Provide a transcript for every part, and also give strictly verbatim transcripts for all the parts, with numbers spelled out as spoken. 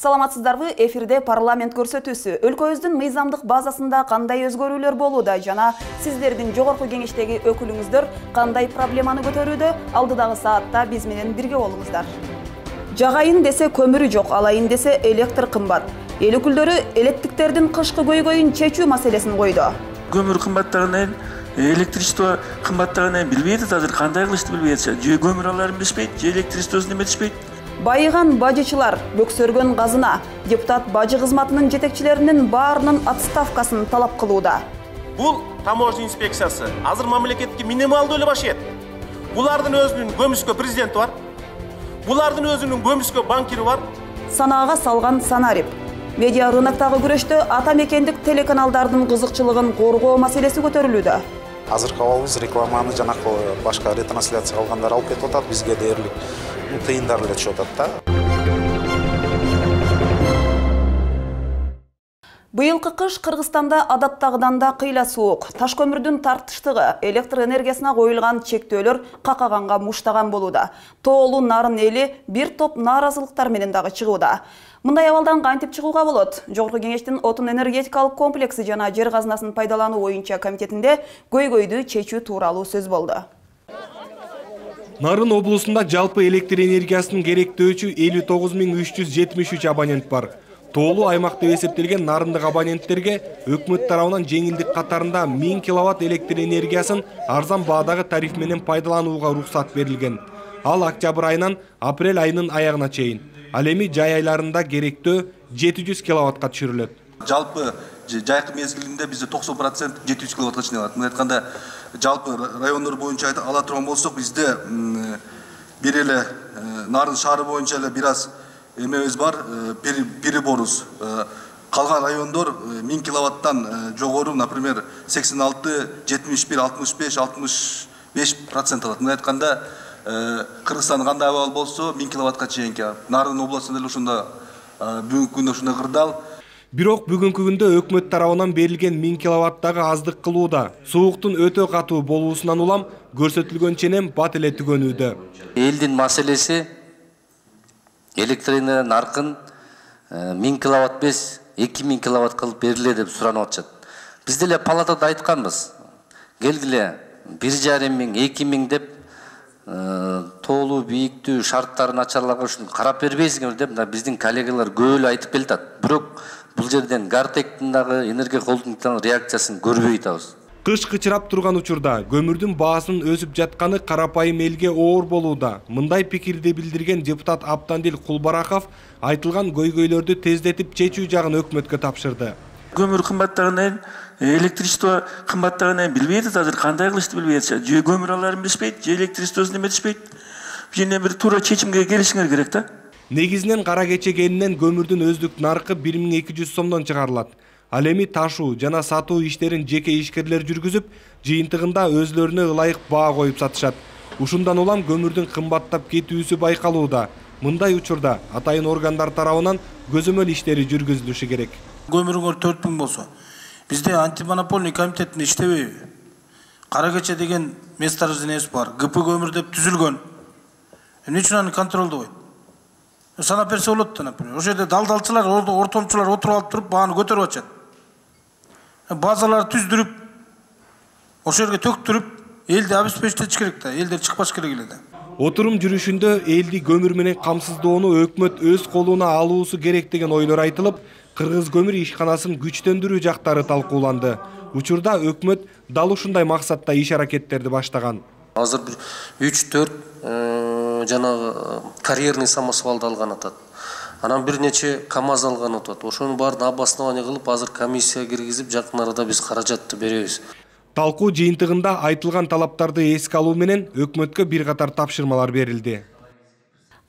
Саламатсыздарбы, эфирде парламент көрсөтүүсү. Өлкөбүздүн мыйзамдык базасында кандай өзгөрүүлөр болууда жана сиздердин жогорку кеңештеги өкүлүңүздөр кандай проблеманы көтөрүүдө? Алдыдагы саатта биз менен бирге болуңуздар. Жагайын десе көмүрү жок, алайын десе электр кымбат. Эл өкүлдөрү электиктердин кышкы көйгөйүн чечүү маселесин койду. Көмүр кымбаттагынан, электричество кымбаттагынан билбейт, азыр кандай кылышты билбейт. Же көмүр аларын билишпейт, же электричествосын эметишпейт. Байыган бажычылар, бөксөргөн казына, депутат бажы кызматынын жетекчилеринин баарынын отставкасын талап кылууда. Бул таможня инспекциясы азыр мамлекетке минималдуу эле баш ийет. Булардын өзүнүн көмүскө президенти бар. Булардын өзүнүн көмүскө банкири бар. Санаага салган санарип. Медиа рыноктогу күрөштө ата мекендик телеканалдардын кызыкчылыгын коргоо маселеси көтөрүлүүдө. Азыркы абалыбыз рекламаны жана башка ретрансляция кылгандар алып кетип атат, бизге дээрлик тыйындар эле түшүп атат да. Быйылкы кыш Кыргызстанда адаттагыдан да кыйла суук. Таш көмүрдүн тартыштыгы, электр энергиясына коюлган чектөөлөр какаганга муштаган болууда. Тоолуу нарын эли бир топ нааразылыктар менен дагы чыгууда. Мындай абалдан кантип чыгууга болот? Жогорку кеңештин отун энергетикалык комплекси жана жер казынасын пайдалануу боюнча комитетинде көйгөйдү чечүү тууралуу сөз болду. Нарын облусунда жалпы электр энергиясынын керектөөчү элүү тогуз миң үч жүз жетимиш үч абонент бар. Тоолуу аймак деп эсептелген нарындык абоненттерге өкмөт тарабынан жеңилдик катарында миң киловатт электр энергиясын арзан баадагы тариф менен пайдаланууга уруксат берилген. Ал октябрь айынан апрель айынын аягына чейин. Ал эми жай айларында керектөө жети жүз киловаттка түшүрүлөт. Жалпы жайкы мезгилинде бизде токсон процент жети жүз киловаттка чейин. Мына айтканда жалпы райондор боюнча ала турган болсок, бизде бир эле Нарын шаары боюнча эле бир аз эмебиз бар, переборубуз. Калган райондор миң киловаттан жогору, например, сексен алты, жетимиш бир, алтымыш беш, алтымыш беш процент алат. Мына айтканда Кыргызстан кандай абал болсо, миң киловаттка чейинки. Нарын областында эле ушунда бүгүнкү күндө ушундай кырдаал. Бирок бүгүнкү күндө өкмөт тарабынан берилген миң киловаттагы аздык кылууда. Сууктун өтө катуу болуусунан улам көрсөтүлгөн ченем бат эле түгөнүүдө. Элдин маселеси электр энергия наркын миң киловатт без эки миң киловатт кылып бериле деп суранып атышат. Биз деле палатада айтканбыз. Келгиле бир жарым миң, эки миң деп тоолуу бийиктүү шарттарын начарларга ушун карап бербейсиңер деп биздин коллегалар көп эле айтып келатат. Бирок бул жерден Гартектин дагы энергия холдингдин реакциясын көрбөй атабыз. Кыш кычырап турган учурда көмүрдүн баасынын өсүп жатканы карапайым элге оор болууда. Мындай пикирди билдирген депутат Аптандил Кулбараков айтылган көйгөйлөрдү тездетип чечүү жагын өкмөткө тапшырды. Көмүр кымбаттагынан, электричество кымбаттагынан билбейт, азыр кандай кылышты билбейт. Же көмүр аларын билишпейт, же электричествосын эметишпейт. Жана бир туура чечимге келишиңер керек да. Негизинен кара кечегенинен көмүрдүн өздүк наркы бир миң эки жүз сомдон чыгарылат. Ал эми ташуу жана сатуу иштерин жеке ишкерлер жүргүзүп, жыйынтыгында өзлөрүнө ылайык баа коюп сатышат. Ушундан улам көмүрдүн кымбаттап кетүүсү байкалууда. Мындай учурда атайын органдар тарабынан көзөмөл иштери жүргүзүлүшү керек. Көмүрүңөр төрт миң болсо, бизде антимонопольный комитеттин иштебейби? Кара кече деген месторождениеси бар, ГП көмүр деп түзүлгөн. Эмне үчүн аны контролдобойт? Санап берсе болот да, например. Ошол жерде далдалчылар, ортомчулар отуруп алып туруп бааны көтөрүп атышат. Базалар түздүрүп, ошол жерге төктүрүп, элди обеспечить керек да, элдер чыкпаш керек эле да. Отурум жүрүшүндө элди көмүр менен камсыздоону өкмөт өз колуна алуусу керек деген ойлор айтылып, Кыргыз көмүр ишканасын күчтөндүрүү жактары талкууланды. Учурда өкмөт дал ушундай максатта иш аракеттерди баштаган. Азыр бир үч төрт жанагы карьерный самосвалды алган атат. Анан бир нече КАМАЗ алган атат. Ошонун баарын обоснование кылып, азыр комиссия киргизип, жакын арада биз каражатты беребиз. Талкуу жыйынтыгында айтылган талаптарды эске алуу менен өкмөткө бир катар тапшырмалар берилди.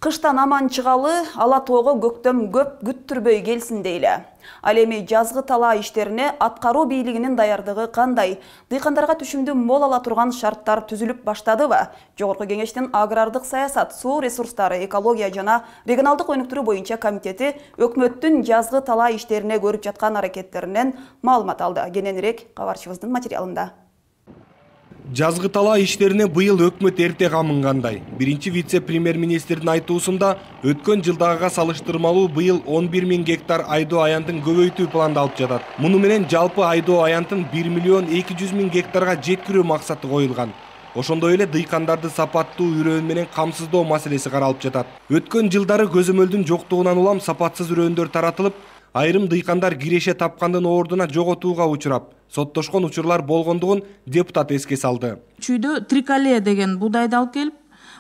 Кыштан аман чыгалы, ала тоого көктөм көп күттүрбөй келсин дейле. Ал эми жазгы талаа иштерине аткаруу бийлигинин даярдыгы кандай? Дыйкандарга түшүмдүү мол ала турган шарттар түзүлүп баштадыбы? Жогорку кеңештин агрардык саясат, суу ресурстары, экология жана регионалдык өнүктүрүү боюнча комитети өкмөттүн жазгы талаа иштерине көрүп жаткан аракеттеринен маалымат алды. Кененирээк кабарчыбыздын материалында. Жазгы талаа иштерине быйыл өкмөт эрте камынгандай. Биринчи вице-премьер-министрдин айтуусунда өткөн жылдагыга салыштырмалуу быйыл он бир миң гектар айдоо аянтын көбөйтүү пландалып жатат. Муну менен жалпы айдоо аянтын бир миллион эки жүз миң гектарга жеткирүү максаты коюлган. Ошондой эле дыйкандарды сапаттуу үрөөн менен камсыздоо маселеси каралып жатат. Өткөн жылдары көзөмөлдүн жоктугунан улам сапатсыз үрөөндөр таратылып, айрым дыйкандар киреше тапкандын ордуна жоготууга учурап, соттошкон учурлар болгондугун депутат эске салды. Чүйдө триколе деген буудайды алып келип,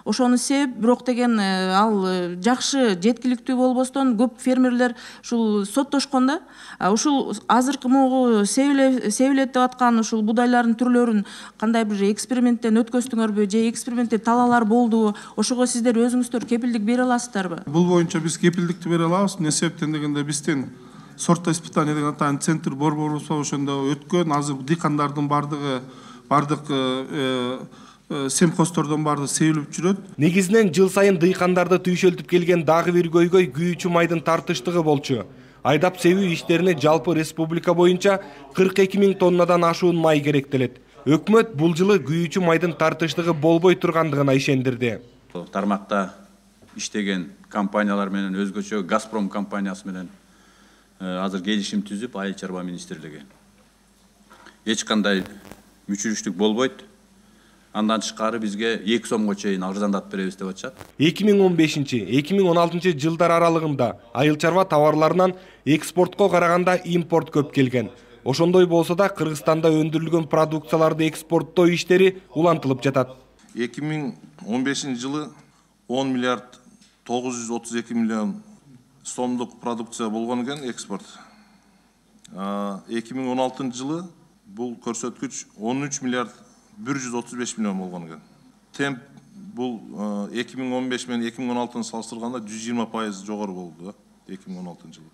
ошону сеп, бирок деген ал жакшы жеткиликтүү болбостон көп фермерлер ушул соттошкон да. Ушул азыркы могу себилет деп аткан ушул буудайлардын түрлөрүн кандай бир эксперименттен өткөздүңөрбү же экспериментте талаалар болдубу? Ошого сиздер өзүңүздөр кепилдик бере аласыздарбы? Бул боюнча биз кепилдикти бере алабыз. Эмне себептен дегенде биздин сорто испытание деген атайын центр борборубуз бар, ошондо өткөн азыр дыйкандардын бардыгы бардык семхоздордон бардыгы себилип жүрөт. Негизинен жыл сайын дыйкандарды түйшөлтүп келген дагы бир көйгөй күйүүчү майдын тартыштыгы болчу. Айдап себүү иштерине жалпы республика боюнча кырк эки миң тоннадан ашуун май керектелет. Өкмөт бул жылы күйүүчү майдын тартыштыгы болбой тургандыгына ишендирди. Тармакта иштеген компаниялар менен өзгөчө Газпром компаниясы менен азыр келишим түзүп, Айыл чарба министрлиги эч кандай мүчүрүштүк болбойт. Андан тышкары бизге эки сомго чейин арзандатып беребиз деп атышат. эки миң он бешинчи — эки миң он алтынчы жылдар аралыгында айыл чарба товарларынан экспортко караганда импорт көп келген. Ошондой болсо да Кыргызстанда өндүрүлгөн продукцияларды экспорттоо иштери улантылып жатат. эки миң он бешинчи жылы он миллиард тогуз жүз отуз эки миллион сомдук продукция болгон экен экспорт. эки миң он алтынчы жылы бул көрсөткүч он үч миллиард бир жүз отуз беш миллион болгон экен. Темп бул эки миң он беш менен эки миң он алтыны салыштырганда жүз жыйырма пайыз жогору болду эки миң он алтынчы жылы.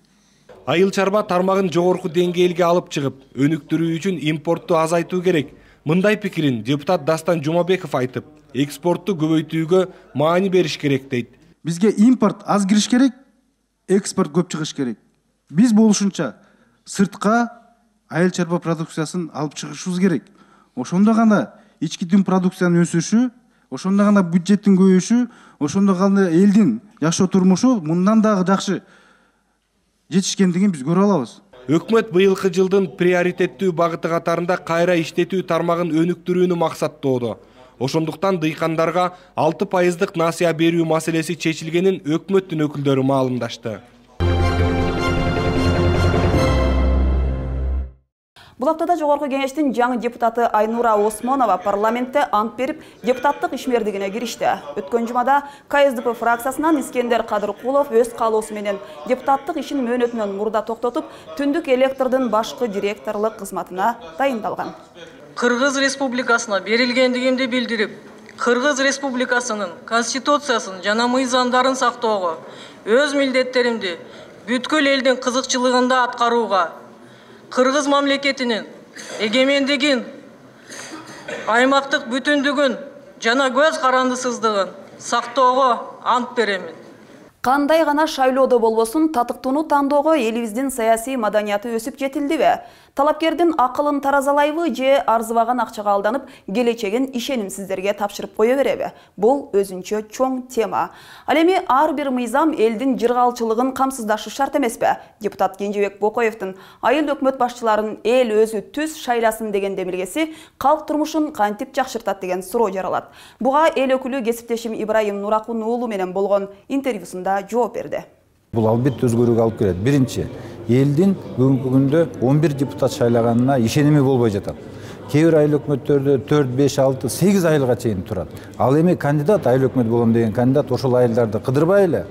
Айыл чарба тармагын жогорку деңгээлге алып чыгып, өнүктүрүү үчүн импортту азайтуу керек. Мындай пикирин депутат Дастан Жумабеков айтып, экспортту көбөйтүүгө маани бериш керек дейт. Бизге импорт аз кириш керек, экспорт көп чыгыш керек. Биз болушунча сыртка айыл чарба продукциясын алып чыгышыбыз керек. Ошондо гана ички дүң продукциянын өсүшү, ошондо гана бюджеттин көбөйүшү, ошондо гана элдин жашоо турмушу мындан дагы жакшы жетишкендигин биз көрө алабыз. Өкмөт быйылкы жылдын приоритеттүү багыты катарында кайра иштетүү тармагын өнүктүрүүнү максаттоодо. Ошондуктан дыйкандарга алты пайыздык насыя берүү маселеси чечилгенин өкмөттүн өкүлдөрү маалымдашты. Булактада жогорку кеңештин жаңы депутаты Айнура Осмонова парламентте ант берип, депутаттык ишмердигине киришти. Өткөн жумада Ка Эс Д П фракциясынан Искендер Кадыркулов өз каалоосу менен депутаттык ишин мөөнөтүнөн мурда токтотуп, түндүк электрдин башкы директорлук кызматына дайындалган. Кыргыз Республикасына берилгендигимди билдирип, Кыргыз Республикасынын конституциясын жана мыйзамдарын сактоого, өз милдеттеримди бүткүл элдин кызыкчылыгында аткарууга, Кыргыз мамлекетинин эгемендигин, аймактык бүтүндүгүн жана көз карандысыздыгын сактоого ант беремин. Кандай гана шайлоодо болбосун, татыктууну тандоого элибиздин саясий маданияты өсүп жетилдиби? Талапкердин акылын таразалайбы же арзыбаган акчага алданып, келечегин ишенимсиздерге тапшырып кое береби? Бул өзүнчө чоң тема. Ал эми ар бир мыйзам элдин жыргалчылыгын камсыздашы шарт эмеспи? Депутат Кенжебек Бокоевдин айыл өкмөт башчыларын эл өзү түз шайласын деген демилгеси калк турмушун кантип жакшыртат деген суроо жаралат. Буга эл өкүлү кесиптешим Ибрайым Нуракун уулу менен болгон интервьюсунда жооп берди. Бул албетте өзгөрүүгө алып келет. Биринчи, элдин бүгүнкү күндө он бир депутат шайлаганына ишеними болбой жатат. Кээ бир айыл өкмөттөрдө төрт, беш, алты, сегиз айылга чейин турат. Ал эми кандидат айыл өкмөт болом деген кандидат ошол айылдарды кыдырбай эле,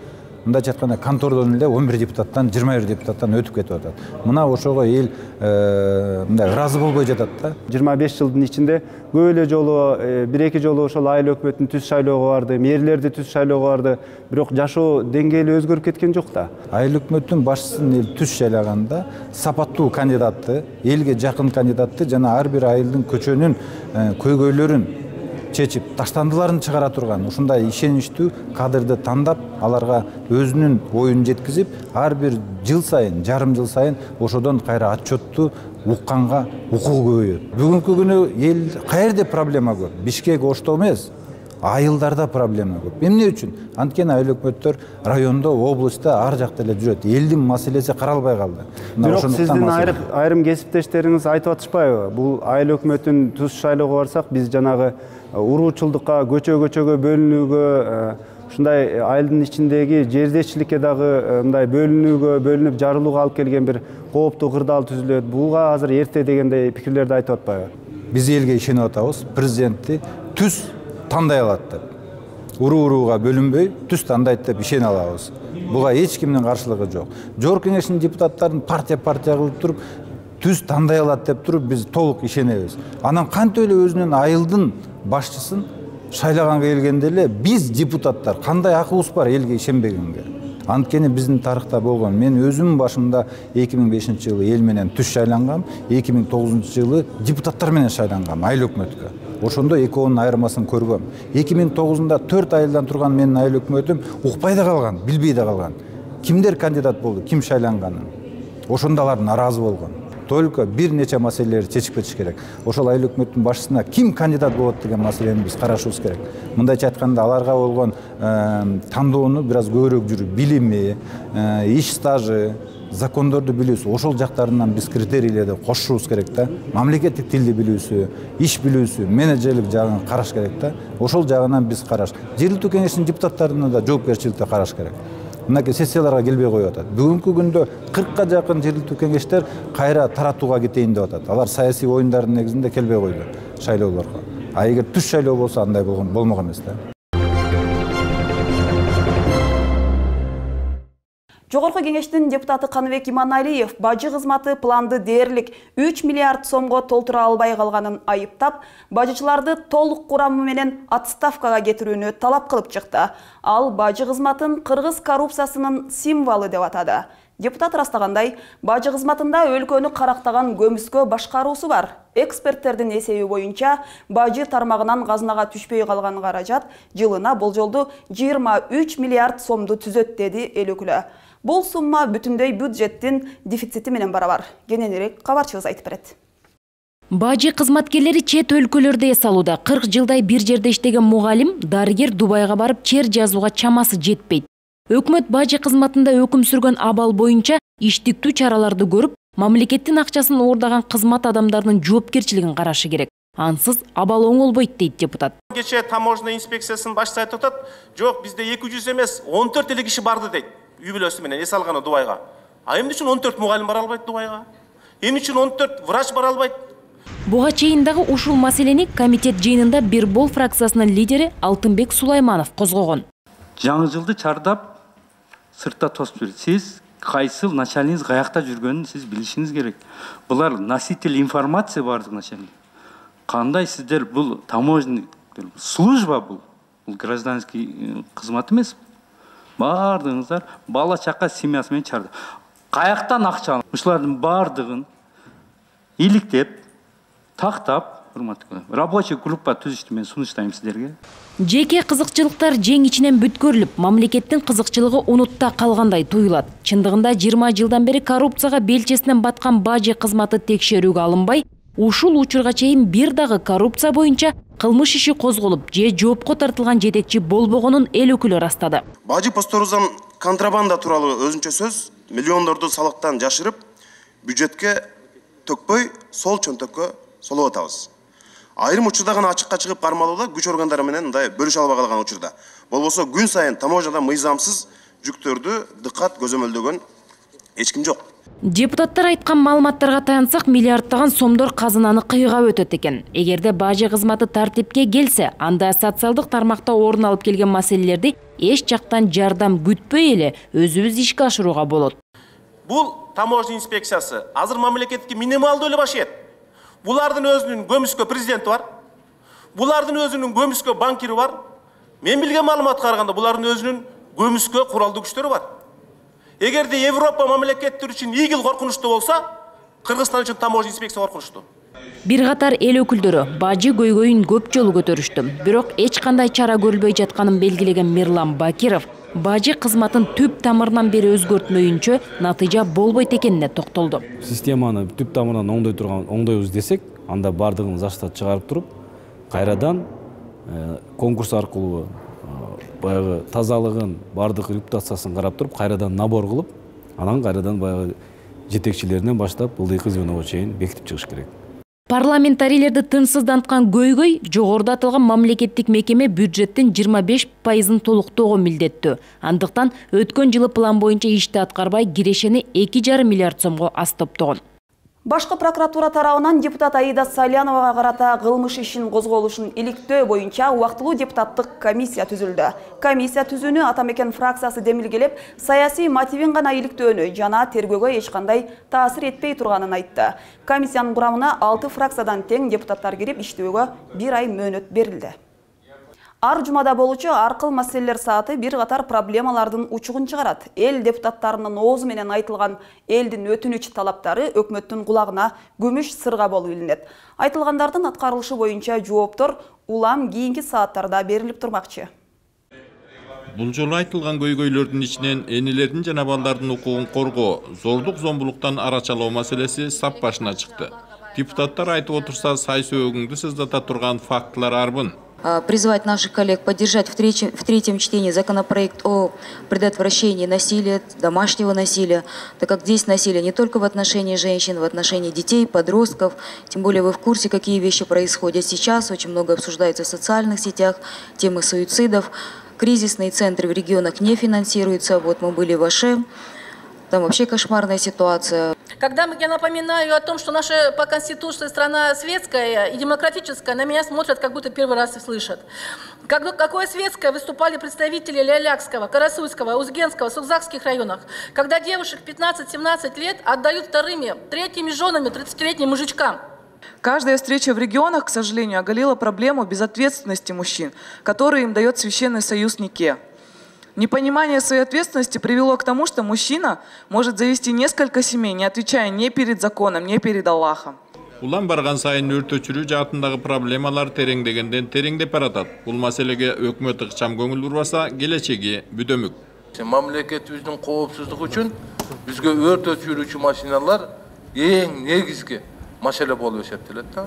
мындайча айтканда контордон эле он бир депутаттан, жыйырма бир депутаттан өтүп кетип атат. Мына ошого эл мындай ыраазы болбой жатат да. жыйырма беш жылдын ичинде көп эле жолу, бир эки жолу ошол айыл өкмөтүн түз шайлоого барды, мэрлерди түз шайлоого барды, бирок жашоо деңгээли өзгөрүп кеткен жок да. Айыл өкмөттүн башчысын эл түз шайлаганда сапаттуу кандидатты, элге жакын кандидатты жана ар бир айылдын көчөнүн көйгөйлөрүн чечип, таштандыларын чыгара турган ушундай ишеничтүү кадрды тандап, аларга өзүнүн оюн жеткизип, ар бир жыл сайын, жарым жыл сайын ошодон кайра отчетту укканга укугу көбөйөт. Бүгүнкү күнү эл каерде проблема көп? Бишкек, Ошто эмес. Айылдарда проблема көп. Эмне үчүн? Анткени айыл өкмөттөр райондо, областта ар жакта эле жүрөт. Элдин маселеси каралбай калды. Бирок сиздин айрым кесиптештериңиз айтып атышпайбы? Бул айыл өкмөтүнүн түз шайлоого барсак, биз жанагы уруучулдукка, көчө-көчөгө бөлүнүүгө, ушундай айылдын ичиндеги жердешчиликке дагы мындай бөлүнүүгө, бөлүнүп жарылууга алып келген бир кооптуу кырдаал түзүлөт. Буга азыр эрте дегендей пикирлерди айтып атпайбы? Биз элге ишенип атабыз. Президентти түз тандай алат деп. Уруу-урууга бөлүнбөй, түз тандайт деп ишене алабыз. Буга эч кимдин каршылыгы жок. Жогорку кеңештин депутаттарын партия-партия кылып туруп, түз тандай алат деп туруп биз толук ишенебиз. Анан кантип эле өзүнүн айылдын башчысын шайлаганга келгенде эле биз депутаттар кандай акыбыз бар элге ишенбегенге. Анткени биздин тарыхта болгон. Мен өзүм башымда эки миң бешинчи жылы эл менен түз шайлангам, эки миң тогузунчу жылы депутаттар менен шайлангам айыл өкмөткө. Ошондо экөөнүн айырмасын көргөм. эки миң тогузунда төрт айылдан турган менин айыл өкмөтүм укпай да калган, билбей да калган. Кимдер кандидат болду, ким шайланганын. Ошондо алар наразы болгон. Только бир нече маселелерди чечип кетиш керек. Ошол айыл өкмөттүн башчысына ким кандидат болот деген маселени биз карашыбыз керек. Мындайча айтканда аларга болгон тандоону бир аз көбүрөөк жүрүп, билими, иш стажы, закондорду билүүсү, ошол жактарынан биз критерийлерди кошушубуз керек да. Мамлекеттик тилди билүүсү, иш билүүсү, менеджерлик жагын караш керек да. Ошол жагынан биз караш. Жергиликтүү кеңештин депутаттарына да жоопкерчиликти караш керек. Мынакей сессияларга келбей коюп атат. Бүгүнкү күндө кыркка жакын жергиликтүү кеңештер кайра таратууга кетейин деп атат. Алар саясий оюндардын негизинде келбей койду шайлоолорго. А эгер түз шайлоо болсо андай болгон болмок эмес да. Жогорку кеңештин депутаты Каныбек Иманалиев бажы кызматы планды дээрлик үч миллиард сомго толтура албай калганын айыптап, бажычыларды толук курамы менен отставкага кетирүүнү талап кылып чыкты. Ал бажы кызматын кыргыз коррупциясынын символу деп атады. Депутат ырастагандай, бажы кызматында өлкөнү карактаган көмүскө башкаруусу бар. Эксперттердин эсеби боюнча, бажы тармагынан казынага түшпөй калган каражат жылына болжолду жыйырма үч миллиард сомду түзөт, деди эл өкүлү. Бул сумма бүтүндөй бюджеттин дефицити менен барабар. Кененирээк кабарчыбыз айтып берет. Бажы кызматкерлери чет өлкөлөрдө эс алууда. кырк жылдай бир жерде иштеген мугалим, дарыгер Дубайга барып чер жазууга чамасы жетпейт. Өкмөт бажы кызматында өкүм сүргөн абал боюнча иштиктүү чараларды көрүп, мамлекеттин акчасын оордаган кызмат адамдарынын жоопкерчилигин карашы керек. Ансыз абал оңолбойт, дейт депутат. Кечээ таможня инспекциясынын башчысы айтып атат, жок, бизде эки жүз эмес, он төрт эле киши барды дейт. Үй бүлөсү менен эс алганы Дубайга. А эмне үчүн он төрт мугалим бара албайт Дубайга? Эмне үчүн он төрт врач бара албайт? Буга чейин дагы ушул маселени комитет жыйынында Бирбол фракциясынын лидери Алтынбек Сулайманов козгогон. Жаңы жылды чардап сыртта тосуп жүрөт. Сиз кайсыл начальниктиңиз каякта жүргөнүн сиз билишиңиз керек. Булар носитель информации бардык начальник. Кандай сиздер бул таможенный служба бул? Бул гражданский кызмат эмес. Бардыңыздар бала чака семьясы менен чарды. Каяктан акча алып, ушулардын бардыгын иликтеп, тактап, урматтуу рабочий группа түзүштү, мен сунуштайм сиздерге. Жеке кызыкчылыктар жең ичинен бүткөрүлүп, мамлекеттин кызыкчылыгы унутта калгандай туюлат. Чындыгында жыйырма жылдан бери коррупцияга белчесинен баткан бажы кызматы текшерүүгө алынбай, ушул учурга чейин бир дагы коррупция боюнча кылмыш иши козголуп, же жоопко тартылган жетекчи болбогонун эл өкүлү ырастады. Бажы посторуздан контрабанда тууралуу өзүнчө сөз, миллиондорду салыктан жашырып, бюджетке төкпөй, сол чөнтөккө солоп атабыз. Айрым учурда гана ачыкка чыгып кармалууда күч органдары менен мындай бөлүшө албай калган учурда. Болбосо күн сайын таможняда мыйзамсыз жүктөрдү дыкат көзөмөлдөгөн эч ким жок. Депутаттар айткан маалыматтарга таянсак, миллиарддаган сомдор казынаны кыйгап өтөт экен. Эгерде бажы кызматы тартипке келсе, анда социалдык тармакта орун алып келген маселелерди эч жактан жардам күтпөй эле өзүбүз ишке ашырууга болот. Бул таможня инспекциясы азыр мамлекетке минималдуу эле башыйт. Булардын өзүнүн көмүскө президенти бар. Булардын өзүнүн көмүскө банкири бар. Мен билген маалыматка караганда булардын өзүнүн көмүскө куралдуу күчтөрү бар. Эгерде Европа мамлекеттери үчүн ийгил коркунучтуу болсо, Кыргызстан үчүн таможня инспекция коркунучтуу. Бир катар эл өкүлдөрү бажы көйгөйүн көп жолу көтөрүштү. Бирок эч кандай чара көрүлбөй жатканын белгилеген Мирлан Бакиров бажы кызматын түп тамырынан бери өзгөртмөйүнчө натыйжа болбойт экенине токтолду. Системаны түп тамырынан оңдой турган оңдойбуз десек, анда бардыгын заштат чыгарып туруп, кайрадан конкурс аркылуу баягы тазалыгын, бардык репутациясын карап туруп, кайрадан набор кылып, анан кайрадан баягы жетекчилеринен баштап ылдыйкы звеного чейин бекитип чыгыш керек. Парламентарийлерди тынчсызданткан көйгөй жогоруда аталган мамлекеттик мекеме бюджеттин жыйырма беш пайызын толуктоого милдеттүү. Андыктан өткөн жылы план боюнча ишти аткарбай кирешени эки жарым миллиард сомго аз топтогон. Башкы прокуратура тарабынан депутат Аида Саляновага карата кылмыш ишин козголушун иликтөө боюнча убактылуу депутаттык комиссия түзүлдү. Комиссия түзүүнү Ата Мекен фракциясы демилгелеп, саясий мотивин гана иликтөөнү жана тергөөгө эч кандай таасир этпей турганын айтты. Комиссиянын курамына алты фракциядан тең депутаттар кирип, иштөөгө бир ай мөөнөт берилди. Ар жумада болучу ар кыл маселелер сааты бир катар проблемалардын учугун чыгарат. Эл депутаттарынын оозу менен айтылган элдин өтүнүч талаптары өкмөттүн кулагына күмүш сырга болуп илинет. Айтылгандардын аткарылышы боюнча жооптор улам кийинки сааттарда берилип турмакчы. Бул жолу айтылган көйгөйлөрдүн ичинен энелердин жана балдардын укугун коргоо, зордук зомбулуктан арачалоо маселеси сап башына чыкты. Депутаттар айтып отурса, сай сөөгүңдү сыздата турган фактылар арбын. Призвать наших коллег поддержать в третьем, в третьем чтении законопроект о предотвращении насилия, домашнего насилия, так как здесь насилие не только в отношении женщин, в отношении детей, подростков, тем более вы в курсе, какие вещи происходят сейчас, очень много обсуждается в социальных сетях, темы суицидов, кризисные центры в регионах не финансируются, вот мы были в Аше, там вообще кошмарная ситуация. Когда я напоминаю о том, что наша по Конституции страна светская и демократическая, на меня смотрят, как будто первый раз и слышат. Как, какое светское выступали представители Лялякского, Карасуйского, Узгенского, Сукзакских районах, когда девушек пятнадцать-семнадцать лет отдают вторыми, третьими женами тридцатилетним мужичкам. Каждая встреча в регионах, к сожалению, оголила проблему безответственности мужчин, которые им дает Священный Союз Нике. Непонимание своей ответственности привело к тому, что мужчина может завести несколько семей, не отвечая ни перед законом, ни перед Аллахом. Улам барган сайын өртөчүрүү жаатындагы проблемалар тереңдегенден тереңдеп баратат. Бул маселеге өкмөт ыкчам көңүл бурбаса, келечеги бүдөмүк. Мамлекетибиздин коопсуздугу үчүн бизге өрт өчүрүүчү машиналар эң негизги маселе болуп эсептелет да.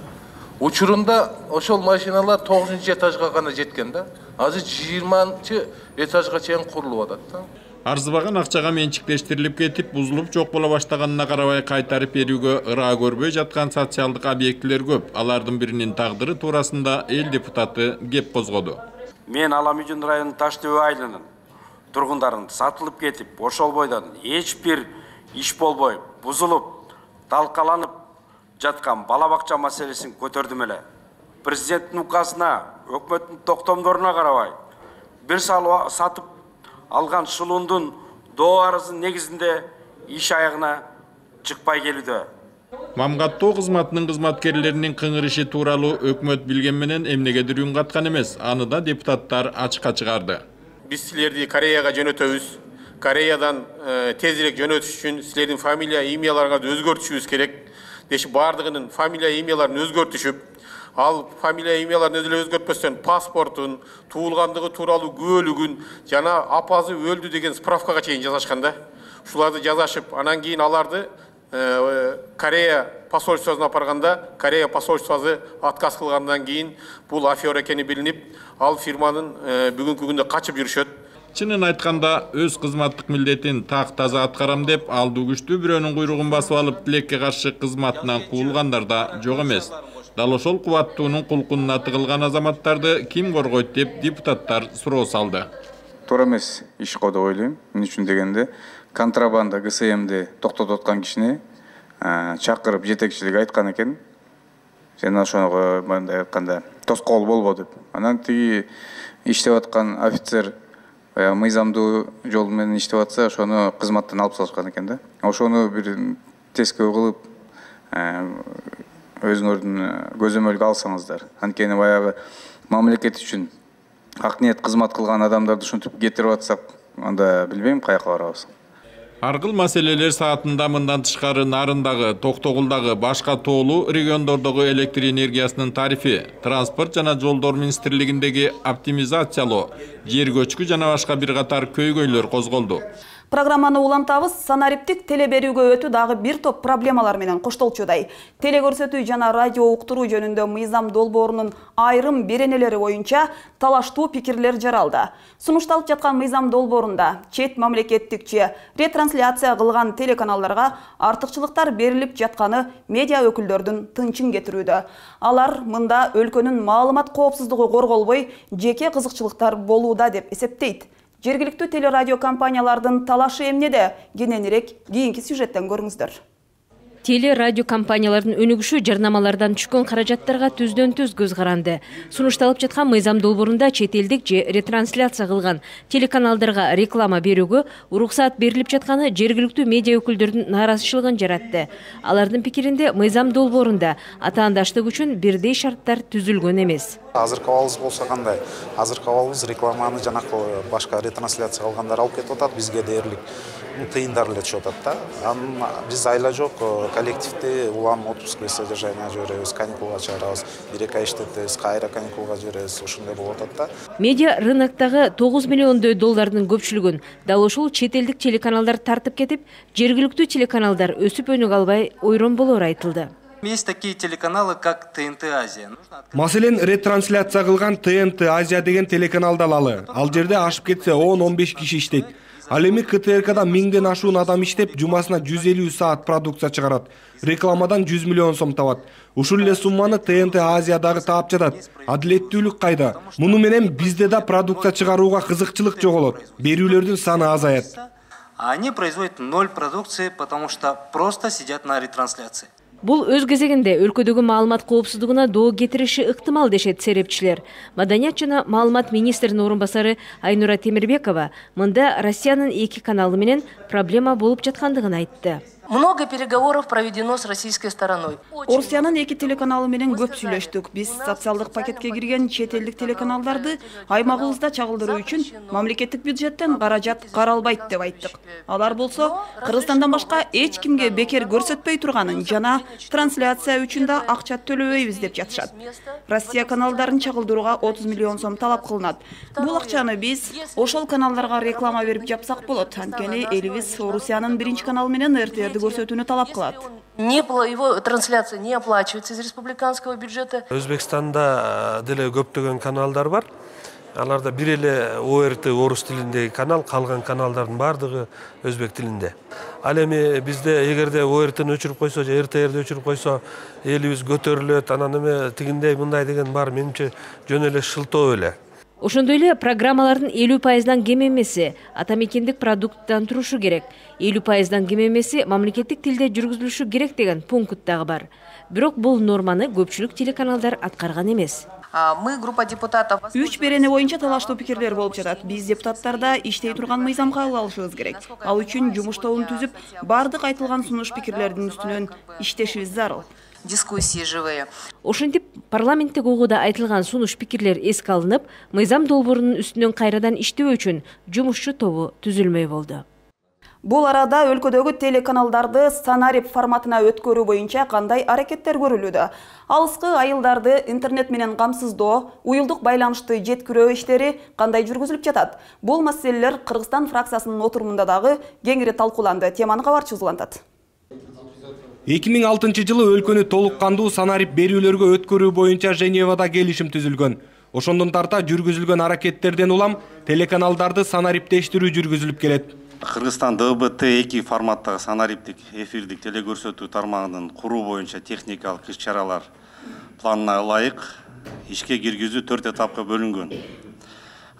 Учурунда ошол машиналар тогузунчу этажга гана жеткен да. Азыр жыйырманчы этажга чейин курулуп атат да. Арзыбаган акчага менчиктештирилип кетип, бузулуп жок боло баштаганына карабай кайтарып берүүгө ыраа көрбөй жаткан социалдык объектилер көп. Алардын биринин тагдыры туурасында эл депутаты кеп козгоду. Мен Аламүйдүн районунун Таш Төбө айылынын тургундарын сатылып кетип, ошол бойдон эч бир иш болбой, бузулуп, талкаланып жаткан бала бакча маселесин көтөрдүм эле. Президенттин указына, өкмөттүн токтомдоруна карабай, бир сал сатып алган шылуундун доо арызынын негизинде иш аягына чыкпай келүүдө. Мамгаттоо кызматынын кызматкерлеринин кыңырышы тууралуу өкмөт билген менен эмнегедир үн каткан эмес. Аны да депутаттар ачыкка чыгарды. Биз силерди Кореяга жөнөтөбүз. Кореядан тезирээк жөнөтүш үчүн силердин фамилия, имяларыңарды өзгөртүшүбүз керек. Деши бардыгынын фамилия, имяларын өзгөртүшүп, ал фамилия, имяларын өзү өзгөртпөстөн паспортун, туулгандыгы тууралуу күбөлүгүн жана апазы өлдү деген справкага чейин жазышкан да. Ушуларды жазашып, анан кийин аларды Корея посольствосуна апарганда, Корея посольствосу отказ кылгандан кийин бул афера экени билинип, ал фирманын бүгүнкү күндө качып жүрүшөт. Чынын айтканда, өз кызматтык милдетин так таза аткарам деп, алдуу күчтүү бирөөнүн куйругун басып алып, тилекке каршы кызматынан куулгандар да жок эмес. Дал ошол кубаттуунун кулкунуна тыгылган азаматтарды ким коргойт деп депутаттар суроо салды. Туура эмес иш го деп ойлойм. Эмне үчүн дегенде, контрабанда ГСМди токтотуп аткан кишини чакырып жетекчилик айткан экен. Сен ошого мындай айтканда тоскоол болбо деп. Анан тиги иштеп аткан офицер мыйзамдуу жол менен иштеп атса, ошону кызматтан алып салышкан экен да. Ошону бир тескөө кылып, өзүңөрдүн көзөмөлгө алсаңыздар. Анткени баягы мамлекет үчүн ак ниет кызмат кылган адамдарды ушинтип кетирип атсак, анда билбейм каяка барабыз. Ар кыл маселелер саатында мындан тышкары Нарындагы, Токтогулдагы, башка тоолуу региондордогу электр энергиясынын тарифи, транспорт жана жолдор министрлигиндеги оптимизациялоо, жер көчкү жана башка бир катар көйгөйлөр козголду. Программаны улантабыз. Санариптик теле берүүгө өтүү дагы бир топ проблемалар менен коштолчудай. Теле көрсөтүү жана радио уктуруу жөнүндө мыйзам долбоорунун айрым беренелери боюнча талаштуу пикирлер жаралды. Сунушталып жаткан мыйзам долбоорунда чет мамлекеттикче ретрансляция кылган телеканалдарга артыкчылыктар берилип жатканы медиа өкүлдөрдүн тынчын кетирүүдө. Алар мында өлкөнүн маалымат коопсуздугу корголбой, жеке кызыкчылыктар болууда деп эсептейт. Жергиликтүү телерадио компаниялардын талашы эмнеде? Кененирээк кийинки сюжеттен көрүңүздөр. Теле радио компаниялардын өнүгүшү жарнамалардан түшкөн каражаттарга түздөн түз көз каранды. Сунушталып жаткан мыйзам долбоорунда чет элдик же ретрансляция кылган телеканалдарга реклама берүүгө уруксаат берилип жатканы жергиликтүү медиа өкүлдөрдүн нааразычылыгын жаратты. Алардын пикиринде мыйзам долбоорунда атаандаштык үчүн бирдей шарттар түзүлгөн эмес. Азыркы абалыбыз болсо кандай? Азыркы абалыбыз рекламаны жанакы башка ретрансляция кылгандар алып кетип атат, бизге дээрлик тыйындар эле түшүп атат да. Анын биз айла жок, коллективди улам отпускка содержание жиберебиз, каникулга чыгарабыз, бир эки ай иштетебиз, кайра каникулга жиберебиз, ошондой болуп атат да. Медиа рыноктогу тогуз миллиондой доллардын көпчүлүгүн дал ушул чет элдик телеканалдар тартып кетип, жергиликтүү телеканалдар өсүп өнүгө албай ойрон болору айтылды. Есть такие телеканалы, как Т Н Т Азия. Маселен, ретрансляция кылган Т Н Т Азия деген телеканалды алалы. Ал жерде ашып кетсе он он беш киши иштейт. Ал эми К Т Р Кда миңден ашуун адам иштеп, жумасына жүз элүү саат продукция чыгарат. Рекламадан жүз миллион сом табат. Ушул эле сумманы Т Н Т Азиядагы таап жатат. Адилеттүүлүк кайда? Муну менен бизде да продукция чыгарууга кызыкчылык жоголот. Берүүлөрдүн саны азаят. Они производят ноль продукции, потому что просто сидят на ретрансляции. Бул өз кезегинде өлкөдөгү маалымат коопсуздугуна доо кетириши ыктымал дешет серепчилер. Маданият жана маалымат министринин орун басары Айнура Темирбекова мында Россиянын эки каналы менен проблема болуп жаткандыгын айтты. Много переговоров проведено с российской стороной. Орусиянын эки телеканалы менен көп сүйлөштүк. Биз социалдык пакетке кирген чет элдик телеканалдарды аймагыбызда чагылдыруу үчүн мамлекеттик бюджеттен каражат каралбайт деп айттык. Алар болсо Кыргызстандан башка эч кимге бекер көрсөтпөй турганын жана трансляция үчүн да акча төлөбөйбүз деп жатышат. Россия каналдарын чагылдырууга отуз миллион сом талап кылынат. Бул акчаны биз ошол каналдарга реклама берип жапсак болот. Анткени элибиз Орусиянын биринчи каналы менен эр тэ эр көрсөтүүнү талап кылат. Не, его трансляция не оплачивается из республиканского бюджета. Өзбекстанда деле көптөгөн каналдар бар. Аларда бир эле О Р Т орус тилиндеги канал, калган каналдардын баардыгы өзбек тилинде. Ал эми бизде эгерде О Р Т'ни өчүрүп койсо же эр тэ эрди өчүрүп койсо элибиз көтөрүлөт, анан эме тигиндей мындай деген бар, менимче жөн эле шылтоо эле. Ошондой эле программалардын элүү пайыздан кем эмеси атамекендик продукттан турушу керек. элүү пайыздан кем эмеси мамлекеттик тилде жүргүзүлүшү керек деген пункт дагы бар. Бирок бул норманы көпчүлүк телеканалдар аткарган эмес. Мы, группа депутатов... Үч берене боюнча талаштуу пикирлер болуп жатат. Биз депутаттарда иштей турган мыйзам кабыл алышыбыз керек. Ал үчүн жумуш тобун түзүп, бардык айтылган сунуш пикирлердин үстүнөн иштешибиз зарыл. Дискуссии живые. Ошентип парламенттик угууда айтылган сунуш пикирлер эске алынып, мыйзам долбоорунун үстүнөн кайрадан иштөө үчүн жумушчу тобу түзүлмөй болду. Бул арада өлкөдөгү телеканалдарды санарип форматына өткөрүү боюнча кандай аракеттер көрүлүүдө? Алыскы айылдарды интернет менен камсыздоо, уюлдук байланышты жеткирүү иштери кандай жүргүзүлүп жатат? Бул маселелер Кыргызстан фракциясынын отурумунда дагы кеңири талкууланды. Теманы кабарчы узулантат. эки миң алтынчы жылы өлкөнү толук кандуу санарип берүүлөргө өткөрүү боюнча Женевада келишим түзүлгөн. Ошондон тарта жүргүзүлгөн аракеттерден улам телеканалдарды санариптештирүү жүргүзүлүп келет. Кыргызстан Д Б Т эки форматтагы санариптик эфирдик телекөрсөтүү тармагынын куруу боюнча техникалык иш-чаралар планына ылайык ишке киргизүү төрт этапка бөлүнгөн.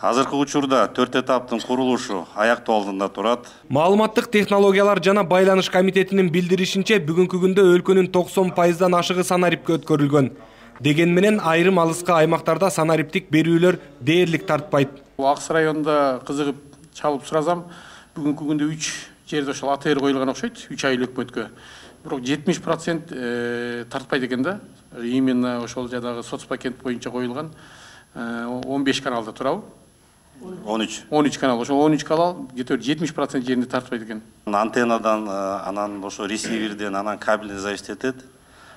Азыркы учурда төрт этаптын курулушу аяктоо алдында турат. Маалыматтык технологиялар жана байланыш комитетинин билдиришинче бүгүнкү күндө өлкөнүн токсон пайыздан ашыгы санарипке өткөрүлгөн. Деген менен айрым алыскы аймактарда санариптик берүүлөр дээрлик тартпайт. Акс районунда кызыгып чалып суразам, бүгүнкү күндө үч жерде ошол А Т Р коюлган окшойт, үч ай өкмөткө. Бирок жетимиш процент тартпайт экен да. Именно ошол жадагы соцпакет боюнча коюлган он беш каналда турабы. он үч он үч канал. Ошол он үч канал где то жетимиш процент жеринде тартпайт экен. Антеннадан, анан ошо ресиверден, анан кабелден зависит этет.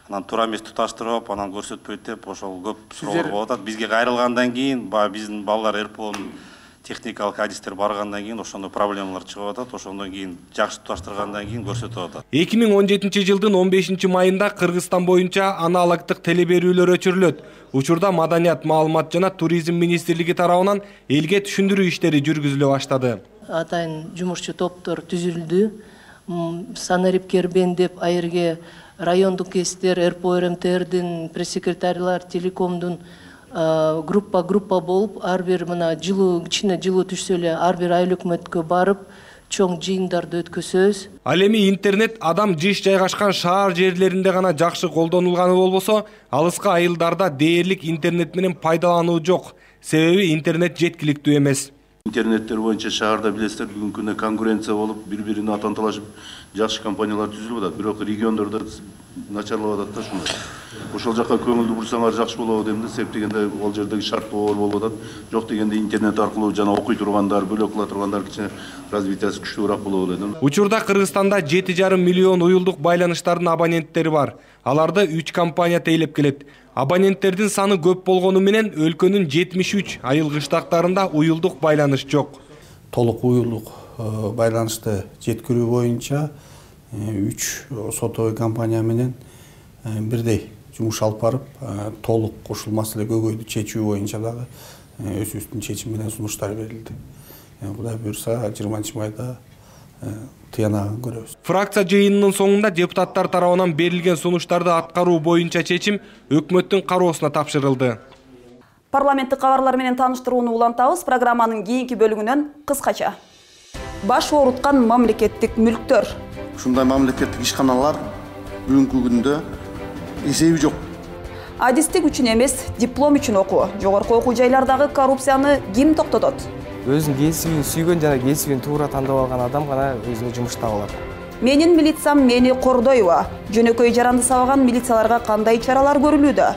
Анан туура эмес туташтырып, анан көрсөтпөйт деп ошол көп суроолор болуп атат. Бизге кайрылгандан кийин, баягы биздин балдар РПОнун техникалык адистер баргандан кийин ошондой проблемалар чыгып атат. Ошондон кийин жакшы туташтыргандан кийин көрсөтүп атат. эки миң он жетинчи жылдын он бешинчи майында Кыргызстан боюнча аналогдук телеберүүлөр өчүрүлөт. Учурда Маданият, маалымат жана туризм министрлиги тарабынан элге түшүндүрүү иштери жүргүзүлө баштады. Атайын жумушчу топтор түзүлдү. Санарип Кербен деп айырге райондук кесиптер, РПО РМТРдин пресс-секретарлар, телекомдун группа группа болуп, ар бир мына жылуу кичине жылуу түшсө эле ар бир айыл өкмөткө барып, чоң жыйындарды өткөзөбүз. Ал эми интернет адам жыш жайгашкан шаар жерлеринде гана жакшы колдонулганы болбосо, алыскы айылдарда дээрлик интернет менен пайдалануу жок. Себеби интернет жеткиликтүү эмес. Интернеттер боюнча шаарда билесиздер, бүгүнкү күндө конкуренция болуп, бири-бирине атанталашып, жакшы компаниялар түзүлүп атат. Бирок региондордо начарлап атат да ушундай. Ошол жака көңүлдү бурсаңар жакшы болот эмне, себеп дегенде ал жердеги шарт болор болуп атат. Жок дегенде интернет аркылуу жана окуй тургандар, бөлөк кыла тургандар кичине развитиясы күчтүүрөөк болот эле. Учурда Кыргызстанда жети жарым миллион уюлдук байланыштардын абоненттери бар. Аларды үч компания тейлеп келет. Абоненттердин саны көп болгону менен өлкөнүн жетимиш үч айыл кыштактарында уюлдук байланыш жок. Толук уюлдук байланышты жеткирүү боюнча үч сотовый компания менен бирдей жумуш алып барып, толук ушул маселе көйгөйдү чечүү боюнча дагы өзүбүздүн чечим менен сунуштар берилди. Кудай буюрса жыйырманчы майда тыянагын көрөбүз. Фракция жыйынынын соңунда депутаттар тарабынан берилген сунуштарды аткаруу боюнча чечим өкмөттүн кароосуна тапшырылды. Парламенттик кабарлар менен тааныштырууну улантабыз. Программанын кийинки бөлүгүнөн кыскача. Баш ооруткан мамлекеттик мүлктөр. Ушундай мамлекеттик ишканалар бүгүнкү күндө эсеби жок. Адистик үчүн эмес, диплом үчүн окуу. Жогорку окуу жайлардагы коррупцияны ким токтотот? Өзүнүн кесибин сүйгөн жана кесибин туура тандап алган адам гана өзүнө жумуш таба алат. Менин милициям мени кордойбу? Жөнөкөй жаранды сабаган милицияларга кандай чаралар көрүлүүдө?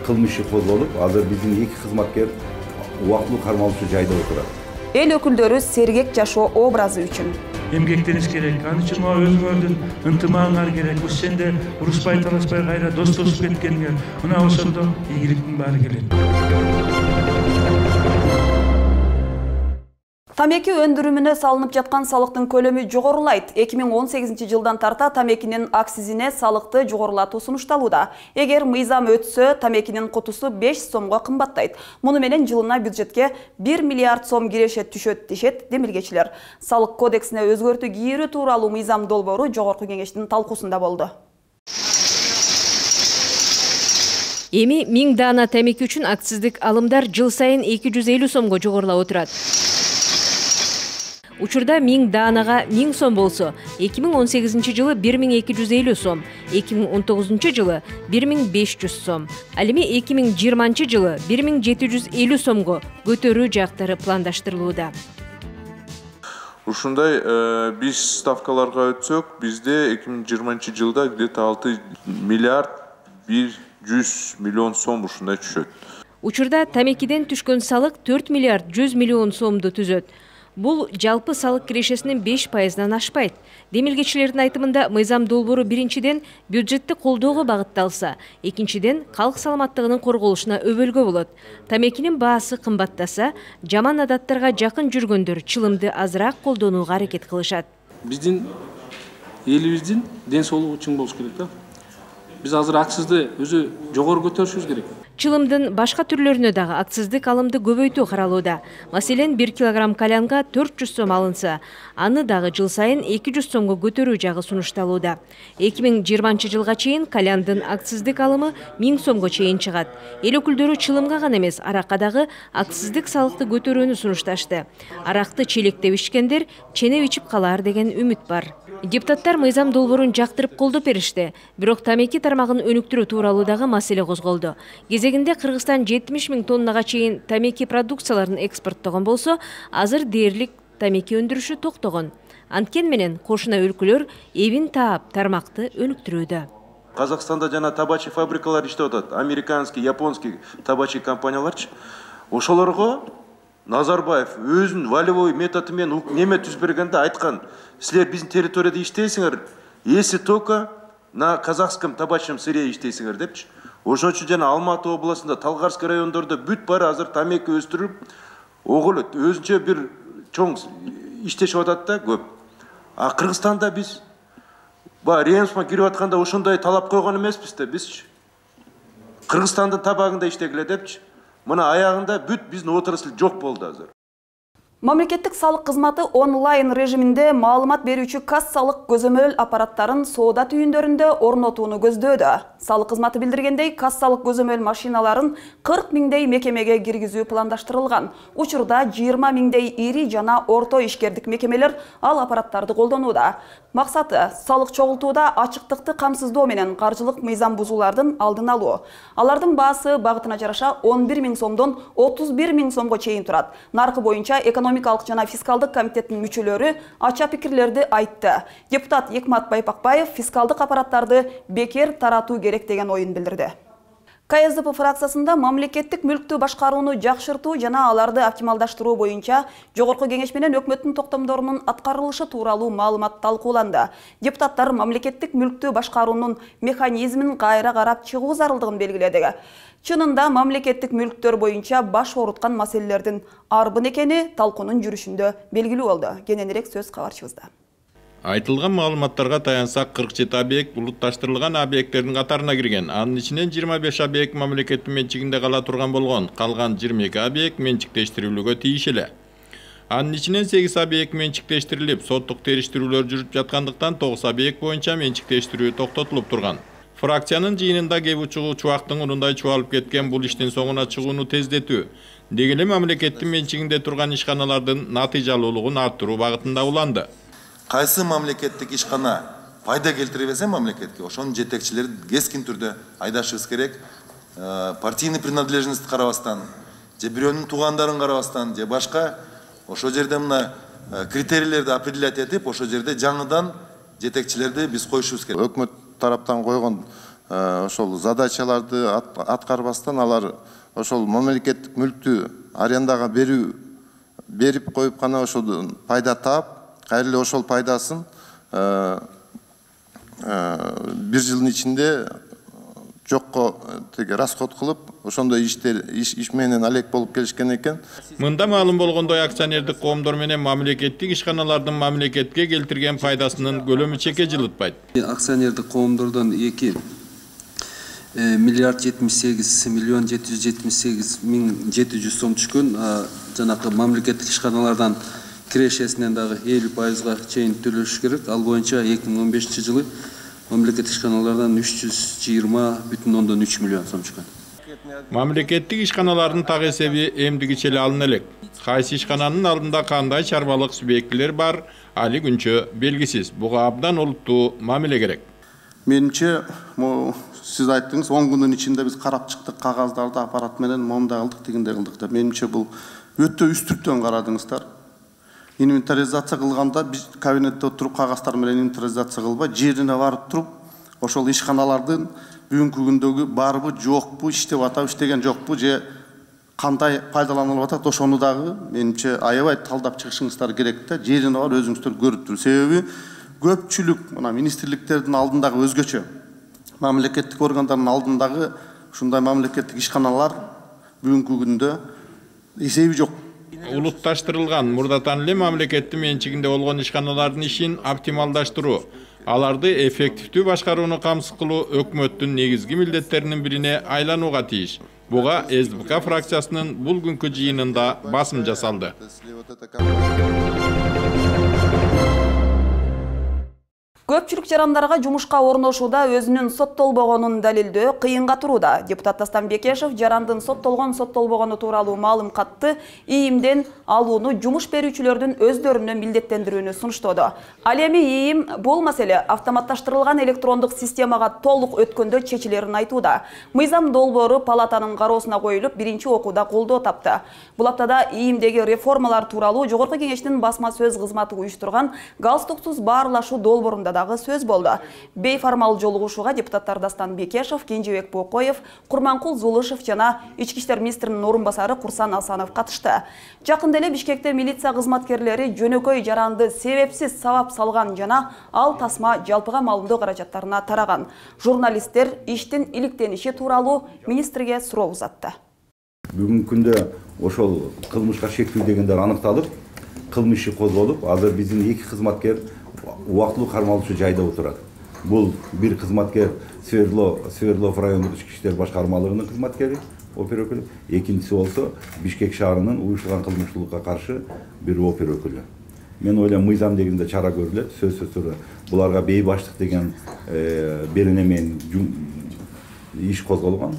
Кылмыш иши козголуп, азыр биздин эки кызматкер убактылуу кармалуучу жайда отурат. Эл өкүлдөрү сергек жашоо образы үчүн эмгектениш керек. Аны үчүн өзүңөрдүн ынтымагыңар керек. Бул сенде урушпай талашпай кайра достошуп кеткениңер. Мына ошондо ийгиликтин баары келет. Тамеки өндүрүмүнө салынып жаткан салыктын көлөмү жогорулайт. эки миң он сегизинчи жылдан тарта тамекинин акцизине салыкты жогорулатуу сунушталууда. Эгер мыйзам өтсө, тамекинин кутусу беш сомго кымбаттайт. Муну менен жылына бюджетке бир миллиард сом киреше түшөт дешет демилгечилер. Салык кодексине өзгөртүү кийирүү тууралуу мыйзам долбоору жогорку кеңештин талкуусунда болду. Эми миң даана тамеки үчүн акциздик алымдар жыл сайын эки жүз элүү сомго жогорулап отурат. Учурда миң даанага миң сом болсо, эки миң он сегизинчи жылы бир миң эки жүз элүү сом, эки миң он тогузунчу жылы бир миң беш жүз сом, ал эми эки миң жыйырманчы жылы бир миң жети жүз элүү сомго көтөрүү жактары пландаштырылууда. Ушундай биз ставкаларга өтсөк, бизде эки миң жыйырманчы жылда где-то алты миллиард бир жүз миллион сом ушундай түшөт. Учурда тамекиден түшкөн салык төрт миллиард жүз миллион сомду түзөт. Бул жалпы салык кирешесинин беш пайызынан ашпайт. Демилгечилердин айтымында мыйзам долбоору биринчиден бюджетти колдоого багытталса, экинчиден калк саламаттыгынын корголушуна өбөлгө болот. Тамекинин баасы кымбаттаса, жаман адаттарга жакын жүргөндөр чылымды азыраак колдонууга аракет кылышат. Биздин элибиздин ден соолугу чың болуш керек да. Биз азыр акцизди өзү жогору көтөрүшүбүз керек. Чылымдын башка түрлөрүнө дагы акциздик алымды көбөйтүү каралууда. Маселен, бир килограмм калянга төрт жүз сом алынса, аны дагы жыл сайын эки жүз сомго көтөрүү жагы сунушталууда. эки миң жыйырманчы жылга чейин каляндын акциздик алымы миң сомго чейин чыгат. Эл өкүлдөрү чылымга гана эмес, аракка дагы акциздик салыкты көтөрүүнү сунушташты. Аракты челектеп ичкендер ченеп ичип калаар деген үмүт бар. Депутаттар мыйзам долбоорун жактырып колдоп беришти, бирок тамеки тармагын өнүктүрүү тууралуудагы маселе козголду. Кезегинде Кыргызстан жетимиш миң тоннага чейин тамеки продукцияларын экспорттогон болсо, азыр дээрлик тамеки өндүрүшү токтогон. Анткен менен кошуна өлкөлөр эбин таап тармакты өнүктүрүүдө. Казакстанда жана табачы фабрикалар иштеп атат. Американский, японский табачы компанияларчы. Ошолорго Назарбаев өзүнүн волевой методу менен неме түзүп бергенде айткан, силер биздин территорияда иштейсиңер, если только на казахском табачном сырье иштейсиңер депчи. Ошон үчүн жана Алматы областында, Талгарский райондордо бүт баары азыр тамеки өстүрүп, огул өзүнчө бир чоң иштешип атат да көп. А Кыргызстанда биз ба Ремсма кирип атканда ошондой талап койгон эмеспиз да бизчи. Кыргызстандын табагында иштегиле депчи. Мына аягында бүт биздин отрасль жок болду азыр. Мамлекеттик салык кызматы онлайн режиминде маалымат берүүчү кассалык көзөмөл аппараттарын соода түйүндөрүндө орнотууну көздөөдө. Салык кызматы билдиргендей, кассалык көзөмөл машиналарын кырк миңдей мекемеге киргизүү пландаштырылган. Учурда жыйырма миңдей ири жана орто ишкердик мекемелер ал аппараттарды колдонууда. Максаты салык чогултууда ачыктыкты камсыздоо менен каржылык мыйзам бузуулардын алдын алуу. Алардын баасы багытына жараша он бир миң сомдон отуз бир миң сомго чейин турат. Наркы боюнча экономикалык жана фискалдык комитеттин мүчөлөрү ача пикирлерди айтты. Депутат Экмат Байпакбаев фискалдык аппараттарды бекер таратуу керек деген оюн билдирди. КСДП фракциясында мамлекеттик мүлктү башкарууну жакшыртуу жана аларды оптималдаштыруу боюнча жогорку кеңеш менен өкмөттүн токтомдорунун аткарылышы тууралуу маалымат талкууланды. Депутаттар мамлекеттик мүлктү башкаруунун механизмин кайра карап чыгуу зарылдыгын белгиледи. Чынында мамлекеттик мүлктөр боюнча баш ооруткан маселелердин арбын экени талкуунун жүрүшүндө белгилүү болду. Кененирээк сөз кабарчыбызда. Айтылган маалыматтарга таянсак, кырк жети объект булутташтырылган объекттердин катарына кирген. Анын ичинен жыйырма беш объект мамлекеттин менчигинде кала турган болгон. Калган жыйырма эки объект менчиктештирүүгө тийиш эле. Анын ичинен сегиз объект менчиктештирилип, соттук териштирүүлөр жүрүп жаткандыктан тогуз объект боюнча менчиктештирүү токтотулуп турган. Фракциянын жыйынында кеп учугу чубактын урундай чубалып кеткен бул иштин соңуна чыгууну тездетүү, деги эле мамлекеттин менчигинде турган ишканалардын натыйжалуулугун арттыруу багытында уланды. Кайсы мамлекеттик ишкана пайда келтире берсе мамлекетке, ошонун жетекчилерин кескин түрдө айдашыбыз керек. Партийный принадлежность карабастан, же бирөөнүн туугандарын карабастан, же башка ошо жерде мына критерийлерди определять этип, ошо жерде жаңыдан жетекчилерди биз коюшубуз керек. Өкмөт тараптан койгон ошол задачаларды аткарбастан алар ошол мамлекеттик мүлктү арендага берүү берип коюп гана ошол пайда таап, кайра эле ошол пайдасын бир жылдын ичинде жокко теге расход кылып, ошондой иштер иш менен алек болуп келишкен экен. Мында маалым болгондой акционердик коомдор менен мамлекеттик ишканалардын мамлекетке келтирген пайдасынын көлөмү чекке жылытпайт. Акционердик коомдордон эки миллиард жетимиш сегиз миллион жети жүз жетимиш сегиз миң жети жүз сом түшкөн. Жанакы мамлекеттик ишканалардан кирешесинен дагы элүү пайызга чейин төлөш керек. Ал боюнча эки миң он бешинчи жылы мамлекеттик ишканалардан үч жүз жыйырма бүтүн ондон үч миллион сом түшкөн. Мамлекеттик ишканалардын так эсеби эмдигиче эле алына элек. Кайсы ишкананын алдында кандай чарбалык субъектилер бар, али күнчө белгисиз. Буга абдан олуттуу мамиле керек. Менимче, сиз айттыңыз, он күндүн ичинде биз карап чыктык, кагаздарды аппарат менен момундай кылдык, тигиндей кылдык деп. Менимче бул өтө үстүртөн карадыңыздар. Инвентаризация кылганда биз кабинетте отуруп кагаздар менен инвентаризация кылбай, жерине барып туруп, ошол ишканалардын бүгүнкү күндөгү барбы, жокпу, иштеп атабы, иштеген жокпу, же кандай пайдаланылып атат, ошону дагы менимче аябай талдап чыгышыңыздар керек да, жерине бар өзүңүздөр көрүп туруп. Себеби көпчүлүк мына министрликтердин алдындагы өзгөчө, мамлекеттик органдардын алдындагы ушундай мамлекеттик ишканалар бүгүнкү күндө эсеби жок. Улутташтырылган мурдатан эле мамлекеттин менчигинде болгон ишканалардын ишин оптималдаштыруу, аларды эффективдүү башкарууну камсыз кылуу өкмөттүн негизги милдеттеринин бирине айланууга тийиш. Буга СДПК фракциясынын бул күнкү жыйынында басым жасалды. Көпчүлүк жарандарга жумушка орношууда өзүнүн соттолбогонун далилдөө кыйынга турууда. Депутат Дастан Бекешев жарандын соттолгон соттолбогону тууралуу маалым катты ийимден алууну жумуш берүүчүлөрдүн өздөрүнө милдеттендирүүнү сунуштоодо. Ал эми ийим бул маселе автоматташтырылган электрондук системага толук өткөндө чечилерин айтууда. Мыйзам долбоору палатанын кароосуна коюлуп, биринчи окууда колдоо тапты. Бул аптада ийимдеги реформалар тууралуу Жогорку кеңештин басма сөз кызматы уюштурган галстуксуз баарлашуу долбоорунда дагы сөз болду. Бейформал жолугушууга депутаттар Дастан Бекешев, Кенжебек Бокоев, Курманкул Зулышев жана ички иштер министринин орун басары Курсан Асанов катышты. Жакында эле Бишкекте милиция кызматкерлери жөнөкөй жаранды себепсиз сабап салган жана ал тасма жалпыга маалымдоо каражаттарына тараган. Журналисттер иштин иликтениши тууралуу министрге суроо узатты. Бүгүнкү күндө ошол кылмышка шектүү дегендер аныкталып, кылмыш иши козголуп, азыр биздин эки кызматкер убактылуу кармалуучу жайда отурат. Бул бир кызматкер Свердлов райондук ички иштер башкармалыгынын кызматкери, опер өкүлү, экинчиси болсо Бишкек шаарынын уюштурулган кылмыштуулукка каршы бир опер өкүлү. Мен ойлойм, мыйзам дегенде чара көрүлөт, сөзсүз түрдө буларга бейбаштык деген берене менен иш козголгон.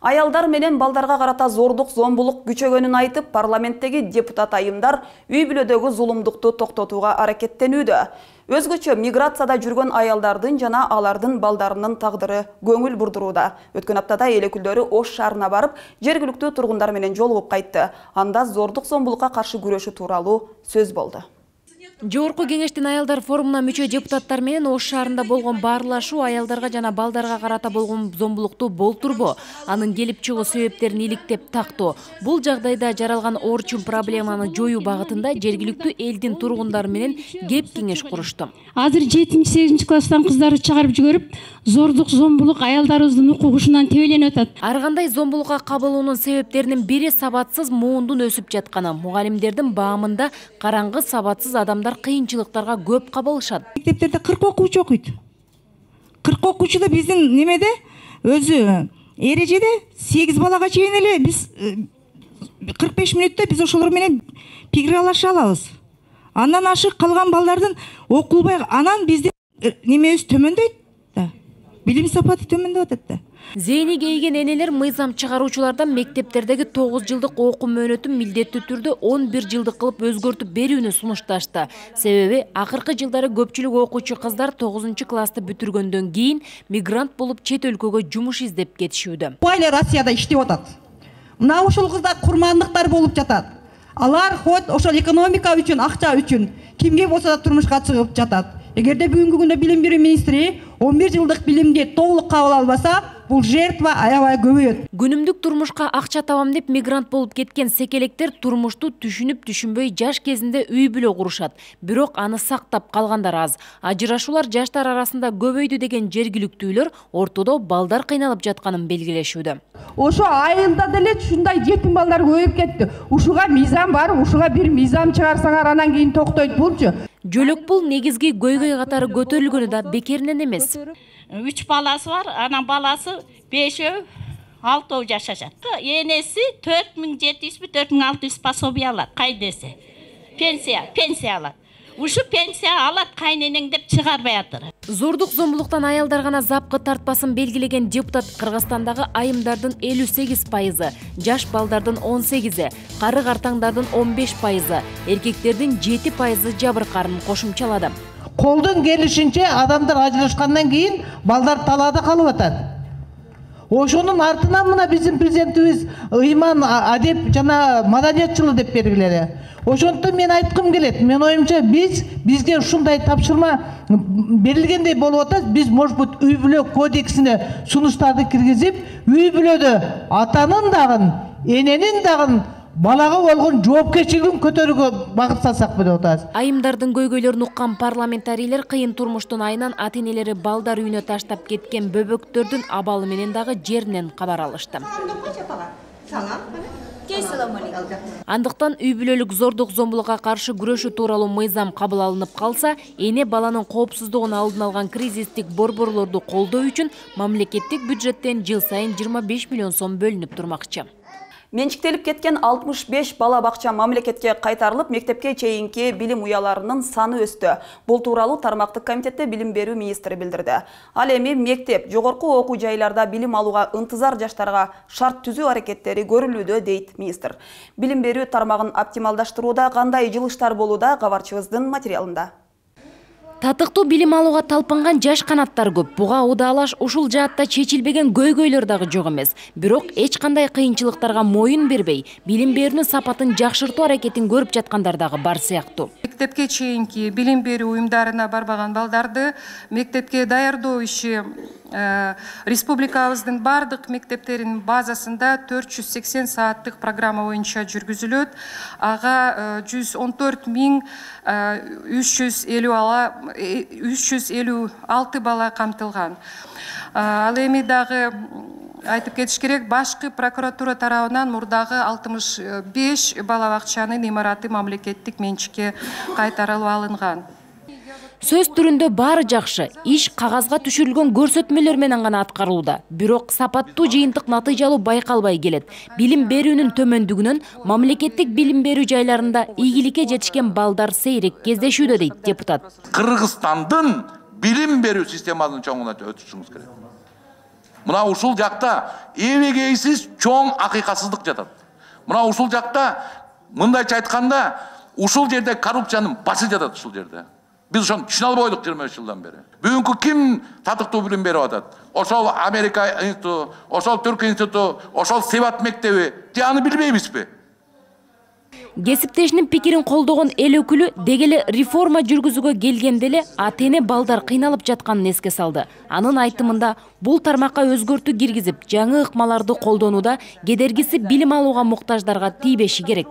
Аялдар менен балдарга карата зордук, зомбулук күчөгөнүн айтып, парламенттеги депутат айымдар үй бүлөдөгү зулумдукту токтотууга аракеттенүүдө. Өзгөчө миграцияда жүргөн аялдардын жана алардын балдарынын тагдыры көңүл бурдурууда. Өткөн аптада эл өкүлдөрү Ош шаарына барып, жергиликтүү тургундар менен жолугуп кайтты. Анда зордук, зомбулукка каршы күрөшүү тууралуу сөз болду. Жогорку кеңештин аялдар форумуна мүчө депутаттар менен Ош шаарында болгон баарлашуу аялдарга жана балдарга карата болгон зомбулукту болтурбоо, анын келип чыгуу себептерин иликтеп тактоо. Бул жагдайда жаралган орчун проблеманы жоюу багытында жергиликтүү элдин тургундары менен кеп кеңеш курушту. Азыр жетинчи сегизинчи класстан кыздарды чыгарып жиберип, зордук, зомбулук аялдарыбыздын укугушунан тебеленип атат. Ар кандай зомбулукка кабылуунун себептеринин бири сабатсыз муундун өсүп жатканы. Мугалимдердин баамында караңгы сабатсыз адамдар кыйынчылыктарга көп кабылышат. Мектептерде кырк окуучу окуйт. кырк окуучу да биздин немеде өзү эрежеде сегиз балага чейин эле биз кырк беш мүнөттө биз ошолор менен пикир алыша алабыз. Андан ашык калган балдардын окулбай, анан биздин немебиз төмөндөйт да. Билим сапаты төмөндөп атат да. Зейни кейген энелер мыйзам чыгаруучулардан мектептердеги тогуз жылдык окуу мөөнөтүн милдеттүү түрдө он бир жылдык кылып өзгөртүп берүүнү сунушташты. Себеби акыркы жылдары көпчүлүк окуучу кыздар тогузунчу классты бүтүргөндөн кийин мигрант болуп чет өлкөгө жумуш издеп кетишүүдө. Байлар Россияда иштеп атат. Мына ошол кыздар курмандыктар болуп жатат. Алар хоть ошол экономика үчүн, акча үчүн кимге болсо да турмушка чыгып жатат. Эгерде бүгүнкү күндө билим берүү министри он бир жылдык билимди толук кабыл албаса, бул жертва аябай көбөйөт. Күнүмдүк турмушка акча табам деп мигрант болуп кеткен секелектер турмушту түшүнүп түшүнбөй жаш кезинде үй бүлө курушат. Бирок аны сактап калгандар аз. Ажырашуулар жаштар арасында көбөйдү деген жергиликтүүлөр ортодо балдар кыйналып жатканын белгилешүүдө. Ошо айылда деле ушундай жетим балдар көбөйүп кетти. Ушуга мыйзам бар, ушуга бир мыйзам чыгарсаңар анан кийин токтойт булчу. Жөлөк бул негизги көйгөй катары көтөрүлгөнү да бекеринен эмес. Үч баласы бар, анан баласы бешөө, алтоо жашашат. Энеси төрт миң жети жүз, төрт миң алты жүз пособие алат, кайдеси. Пенсия, пенсия алат. Ушу пенсия алат кайненең деп чыгарбай атыр. Зордук, зомбулуктан аялдар гана запкы тартпасын белгилеген депутат Кыргызстандагы айымдардын элүү сегиз пайызы, жаш балдардын он сегизи, кары картаңдардын он беш пайызы, эркектердин жети пайызы жабыркаарын кошумчалады. Колдон келишинче адамдар ажырашкандан кийин балдар талаада калып атат. Ошонун артынан мына биздин президентибиз ыйман, адеп жана маданият жылы деп бергилери. Ошондон мен айткым келет. Мен оюмча биз бизге ушундай тапшырма берилгендей болуп атат. Биз, может быть, үй бүлө кодексине сунуштарды киргизип, үй бүлөдө атанын дагы, эненин дагы балага болгон жоопкерчилигин көтөрүүгө багыттасак деп атабыз. Айымдардын көйгөйлөрүн уккан парламентарийлер кыйын турмуштун айынан ата-энелери балдар үйүнө таштап кеткен бөбөктөрдүн абалы менен дагы жеринен кабар алышты. Андыктан үй бүлөлүк зордук, зомбулукка каршы күрөшүү тууралуу мыйзам кабыл алынып калса, эне баланын коопсуздугун алдын алган кризистик борборлорду колдоо үчүн мамлекеттик бюджеттен жыл сайын жыйырма беш миллион сом бөлүнүп турмакчы. Менчиктелип кеткен алтымыш беш бала бакча мамлекетке кайтарылып, мектепке чейинки билим уяларынын саны өстү. Бул тууралуу тармактык комитетте билим берүү министри билдирди. Ал эми мектеп, жогорку окуу жайларда билим алууга ынтызар жаштарга шарт түзүү аракеттери көрүлүүдө, дейт министр. Билим берүү тармагын оптималдаштырууда кандай жылыштар болууда, кабарчыбыздын материалында. Татыктуу билим алууга талпынган жаш канаттар көп. Буга удаалаш ушул жаатта чечилбеген көйгөйлөр дагы жок эмес. Бирок эч кандай кыйынчылыктарга моюн бербей, билим берүүнүн сапатын жакшыртуу аракетин көрүп жаткандар дагы бар сыяктуу. Мектепке чейинки билим берүү уюмдарына барбаган балдарды мектепке даярдоо иши республикабыздын бардык мектептеринин базасында төрт жүз сексен сааттык программа боюнча жүргүзүлөт. Ага жүз он төрт миң үч жүз элүү алты бала камтылган. Ал эми дагы айтып кетиш керек, башкы прокуратура тарабынан мурдагы алтымыш беш бала бакчанын имараты мамлекеттик менчикке кайтарылып алынган. Сөз түрүндө баары жакшы, иш кагазга түшүрүлгөн көрсөтмөлөр менен гана аткарылууда. Бирок сапаттуу жыйынтык натыйжалуу байкалбай келет. Билим берүүнүн төмөндүгүнөн мамлекеттик билим берүү жайларында ийгиликке жетишкен балдар сейрек кездешүүдө дейт депутат. Кыргызстандын билим берүү системасынын чоңуна өтүшүңүз керек. Мына ушул жакта эбегейсиз чоң акыйкатсыздык жатат. Мына ушул жакта мындайча айтканда ушул жерде коррупциянын башы жатат ушул жерде. Biz ошону түшүнө албойдук жыйырма беш жылдан бери. Бүгүнкү ким татыктуу билим берип атат? Ошол Америка институту, ошол Түрк институту, ошол Себат мектеби, же аны билбейбизби? Кесиптешинин пикирин колдогон эл өкүлү дегеле реформа жүргүзүүгө келгенде эле ата эне балдар кыйналып жатканын эске салды. Анын айтымында бул тармакка өзгөртүү киргизип, жаңы ыкмаларды колдонууда кедергиси билим алууга муктаждарга тийбеши керек.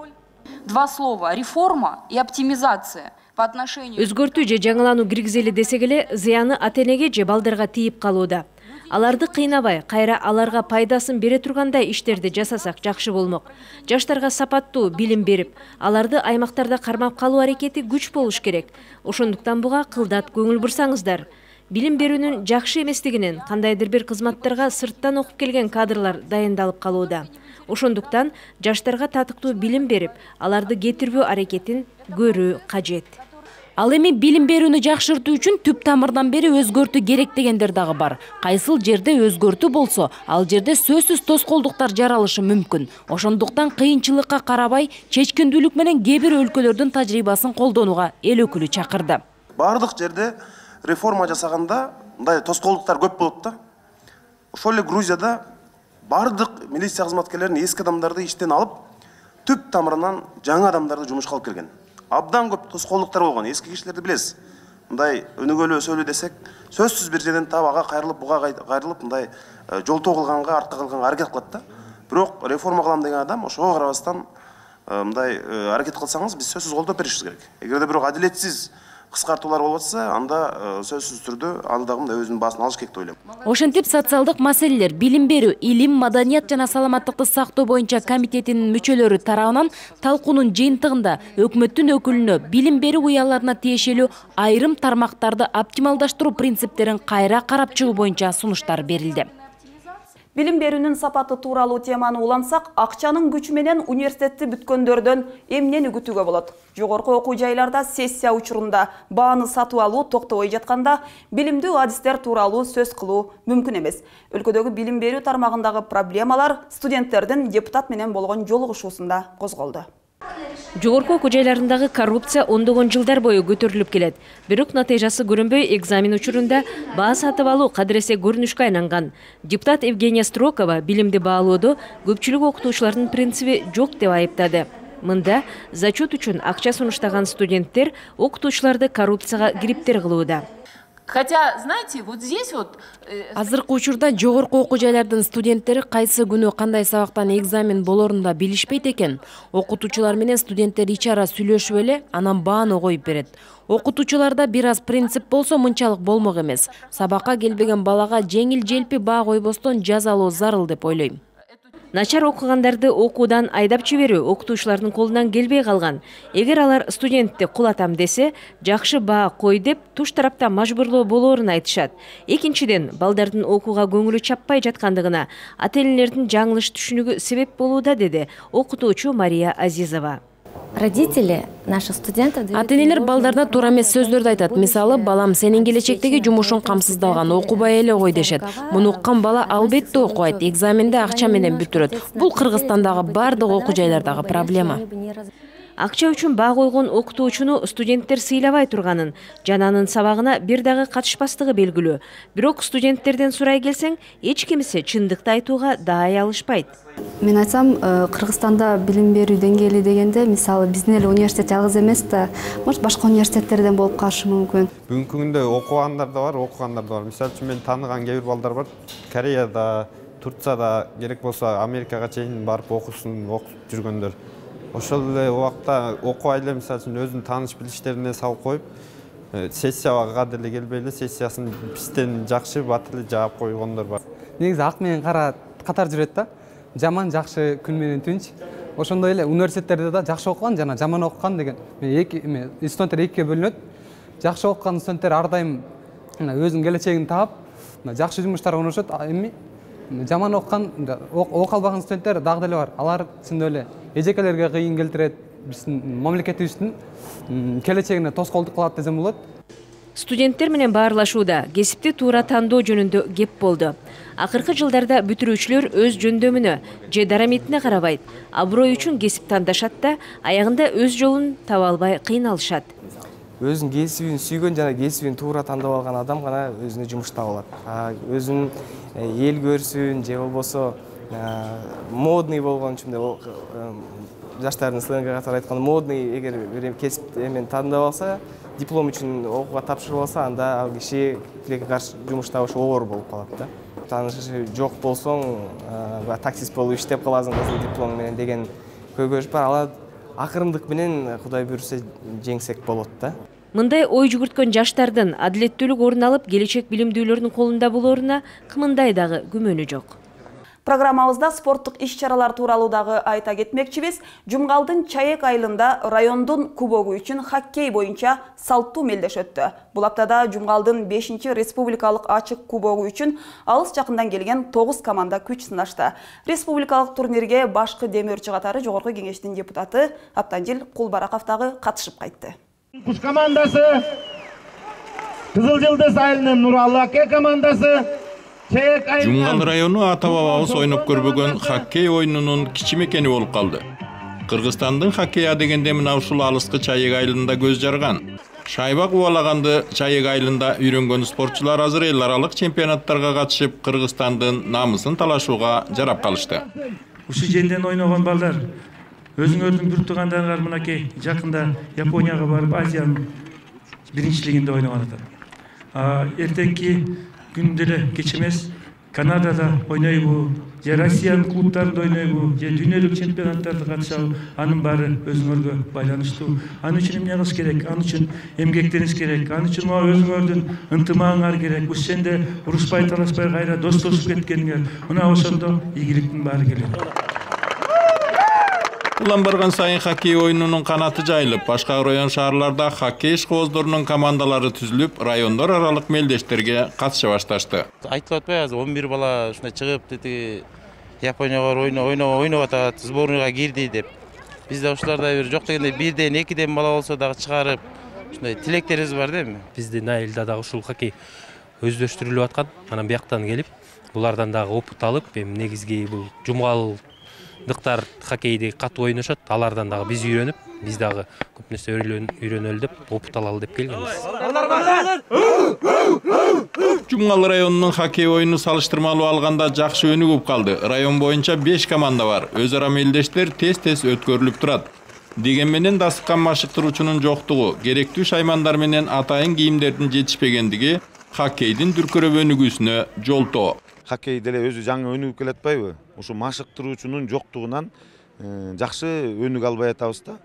Два слова: реформа и оптимизация. Өзгөртүү же жаңылануу киргизели десек эле, зыяны ата энеге же балдарга тийип калууда. Аларды кыйнабай, кайра аларга пайдасын бере тургандай иштерди жасасак жакшы болмок. Жаштарга сапаттуу билим берип, аларды аймактарда кармап калуу аракети күч болуш керек. Ошондуктан буга кылдат көңүл бурсаңыздар. Билим берүүнүн жакшы эместигинен кандайдыр бир кызматтарга сырттан окуп келген кадрлар дайындалып калууда. Ошондуктан жаштарга татыктуу билим берип, аларды кетирбөө аракетин көрүү кажет. Ал эми билим берүүнү жакшыртуу үчүн түп тамырдан бери өзгөртүү керек дегендер дагы бар. Кайсыл жерде өзгөртүү болсо, ал жерде сөзсүз тоскоолдуктар жаралышы мүмкүн. Ошондуктан кыйынчылыкка карабай, чечкиндүүлүк менен кээ бир өлкөлөрдүн тажрыйбасын колдонууга эл өкүлү чакырды. Бардык жерде реформа жасаганда мындай тоскоолдуктар көп болот да. Ошол эле Грузияда бардык милиция кызматкерлерин эски адамдарды иштен алып, түп тамырынан жаңы адамдарды жумушка алып келген. Абдан көп тоскоолдуктар болгон. Эски кишилерди билесиз. Мындай өнүгөлүү сөйлөө десек, сөзсүз бир жерден табага кайрылып, буга кайрылып, мындай жолтоо кылганга, артка кылганга аракет кылат да. Бирок реформа кылам деген адам ошого карабастан мындай аракет кылсаңыз, биз сөзсүз колдоп беришибиз керек. Эгерде бирок адилетсиз кыскартуулар болуп атса, анда сөзсүз түрдө аны дагы мындай өзүнүн баасын алыш керек деп ойлойм. Ошентип социалдык маселелер, билим берүү, илим, маданият жана саламаттыкты сактоо боюнча комитетинин мүчөлөрү тарабынан талкуунун жыйынтыгында өкмөттүн өкүлүнө билим берүү уяларына тиешелүү айрым тармактарды оптималдаштыруу принциптерин кайра карап чыгуу боюнча сунуштар берилди. Билим берүүнүн сапаты тууралуу теманы улантсак, акчанын күчү менен университетти бүткөндөрдөн эмнени күтүүгө болот? Жогорку окуу жайларда сессия учурунда бааны сатып алуу токтобой жатканда, билимдүү адистер тууралуу сөз кылуу мүмкүн эмес. Өлкөдөгү билим берүү тармагындагы проблемалар студенттердин депутат менен болгон жолугушуусунда козголду. Жогорку окуу жайларындагы коррупция ондогон жылдар бою көтөрүлүп келет. Бирок натыйжасы көрүнбөй экзамен учурунда баа сатып алуу кадыресе көрүнүшкө айланган. Депутат Евгения Строкова билимди баалоодо көпчүлүк окутуучулардын принциби жок деп айыптады. Мында зачет үчүн акча сунуштаган студенттер окутуучуларды коррупцияга кириптер кылууда. Хотя, знаете, вот здесь вот... Азыркы учурда жогорку окуу жайлардын студенттери кайсы күнү кандай сабактан экзамен болорун да билишпейт экен. Окутуучулар менен студенттер ич ара сүйлөшүп эле, анан бааны коюп берет. Окутуучуларда бир аз принцип болсо мынчалык болмок эмес. Сабакка келбеген балага жеңил-желпи баа койбостон жазалоо зарыл деп ойлойм. Начар окугандарды окуудан айдап жиберүү окутуучулардын колунан келбей калган. Эгер алар студентти кулатам десе, жакшы баа кой деп туш тараптан мажбурлоо болоорун айтышат. Экинчиден, балдардын окууга көңүлү чаппай жаткандыгына ата энелердин жаңылыш түшүнүгү себеп болууда, деди окутуучу Мария Азизова. Родители наших студентов... Ата-энелер балдарына туура эмес сөздөрдү айтат. Мисалы, балам сенин келечектеги жумушуң камсыздалган, окубай эле кой дешет. Муну уккан бала албетте окубайт, экзаменде акча менен бүтүрөт. Бул Кыргызстандагы бардык окуу жайлардагы проблема. Акча үчүн баа койгон окутуучуну студенттер сыйлабай турганын жана анын сабагына бир дагы катышпастыгы белгилүү. Бирок студенттерден сурай келсең, эч кимиси чындыкты айтууга даай алышпайт. Мен айтсам, Кыргызстанда билим берүү деңгээли дегенде, мисалы биздин эле университет жалгыз эмес да, может башка университеттерден болуп калышы мүмкүн. Бүгүнкү күндө окугандар да бар, окугандар да бар. Мисалы үчүн мен тааныган кээ бир балдар бар. Кореяда, Турцияда, керек болсо Америкага чейин барып окусун, окуп жүргөндөр. Ошол эле убакта окубай эле мисалы үчүн өзүнүн тааныш билиштерине салып коюп, сессияга деле келбей эле сессиясын бизден жакшы бат эле жаап койгондор бар. Негизи ак менен кара катар жүрөт да. Жаман жакшы, күн менен түнч. Ошондой эле университеттерде да жакшы окуган жана жаман окуган деген эки студенттер экиге бөлүнөт. Жакшы окуган студенттер ар дайым өзүнүн келечегин таап, жакшы жумуштарга орношот. Эми жаман окуган, окуп албаган студенттер дагы деле бар. Алар чындап эле эжекелерге кыйын келтирет, биздин мамлекетибиздин келечегине тоскоолдук кылат десем болот. Студенттер менен баарлашууда кесипти туура тандоо жөнүндө кеп болду. Акыркы жылдарда бүтүрүүчүлөр өз жөндөмүнө же дараметине карабайт, аброй үчүн кесип тандашат да, аягында өз жолун таба албай кыйналышат. Өзүнүн кесибин сүйгөн жана кесибин туура тандап алган адам гана өзүнө жумуш таба алат. Өзүн эл көрсүн же болбосо модный болгон үчүн жаштардын сленге катары айтканда модный эгер бир кесип эмен тандап алса, диплом үчүн окууга тапшырып алса, анда ал киши тилекке каршы жумуш табышы оор болуп калат да. Таанышы жок болсоң, таксист болуп иштеп каласың кызыл диплом менен деген көйгөйүш бар. Ал акырындык менен Кудай буйрса жеңсек болот да. Мындай ой жүгүрткөн жаштардын адилеттүүлүк орун алып, келечек билимдүүлөрдүн колунда болоруна кымындай дагы күмөнү жок. Программабызда спорттук иш-чаралар тууралуу дагы айта кетмекчибиз. Жумгалдын Чаек айылында райондун кубогу үчүн хоккей боюнча салттуу мелдеш өттү. Бул аптада Жумгалдын бешинчи республикалык ачык кубогу үчүн алыс жакындан келген тогуз команда күч сынашты. Республикалык турнирге башкы демөөрчү катары Жогорку Кеңештин депутаты Аптанжил Кулбараков дагы катышып кайтты. Куш командасы, Кызыл Жылдыз айылынын Нуралуу Аке командасы, Жумгал району ата-бабабыз ойноп көрбөгөн хоккей оюнунун кичи мекени болуп калды. Кыргызстандын хоккей дегенде мына ушул алыскы Чаек айылында көз жарган. Шайба кубалаганды Чаек айылында үйрөнгөн спортчулар азыр эл аралык чемпионаттарга катышып, Кыргызстандын намысын талашууга жарап калышты. Ушул жерден ойногон балдар өзүңөрдүн бир туугандарыңар мынакей жакында Японияга барып Азиянын биринчилигинде ойногон атат. Эртеңки күндө эле кеч эмес Канадада ойнойбу, же Россиянын клубтарында ойнойбу, же дүйнөлүк чемпионаттарда катышабы, анын баары өзүңөргө байланыштуу. Анын үчүн эмне кылыш керек? Анын үчүн эмгектениңиз керек. Анын үчүн өзүңөрдүн ынтымагыңар керек. Ушенде урушпай талашпай кайра достошуп кеткениңер. Мына ошондо ийгиликтин баары келет. Улам барган сайын хоккей оюнунун канаты жайылып, башка район шаарларда хоккей ишкобоздорунун командалары түзүлүп, райондор аралык мелдештерге катыша башташты. Айтылып атпайбы, азыр он бир бала ушундай чыгып, дети Японияга ойно, ойно, ойноп атат, сборныйга кирди деп. Бизде ушулардай бир жок дегенде бирден, экиден бала болсо дагы чыгарып, ушундай тилектерибиз бар да эми. Биздин айылда дагы ушул хоккей өздөштүрүлүп аткан, анан бияктан келип, булардан дагы опыт алып, эми негизги бул Жумгал дыктар хоккейди катуу ойношот, алардан дагы биз үйрөнүп, биз дагы көп нерсе үйрөнөлү деп, опыт алалы деп келгенбиз. Жумгал районунун хоккей оюну салыштырмалуу алганда жакшы өнүгүп калды. Район боюнча беш команда бар. Өз ара мелдештер тез-тез өткөрүлүп турат. Деген менен дасыккан машыктыруучунун жоктугу, керектүү шаймандар менен атайын кийимдердин жетишпегендиги хоккейдин дүркүрөп өнүгүүсүнө жолтоо. Хоккей деле өзү жаңы өнүгүп келатпайбы? Ушу машыктыруучунун жоктугунан жакшы өнүгө албай атабыз да.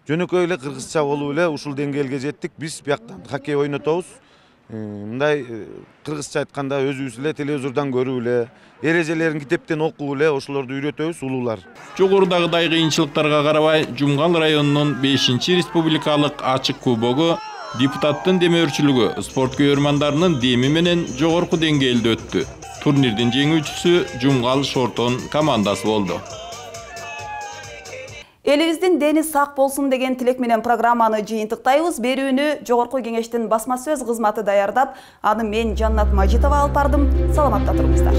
Жөнөкөй эле кыргызча болуп эле ушул деңгээлге жеттик. Биз бияктан хоккей ойнотобуз. Мындай кыргызча айтканда өзүбүз эле телевизордон көрүп эле, эрежелерин китептен окуп эле ошолорду үйрөтөбүз улуулар. Жогорудагыдай кыйынчылыктарга карабай, Жумгал районунун бешинчи республикалык ачык кубогу депутаттын демөөрчүлүгү, спорт көйөрмандарынын деми менен жогорку деңгээлде өттү. Турнирдин жеңүүчүсү Жумгал Шортон командасы болду. Элибиздин дени сак болсун деген тилек менен программаны жыйынтыктайбыз. Берүүнү Жогорку Кеңештин басма сөз кызматы даярдап, аны мен Жаннат Мажитова алып бардым. Саламатта туруңуздар.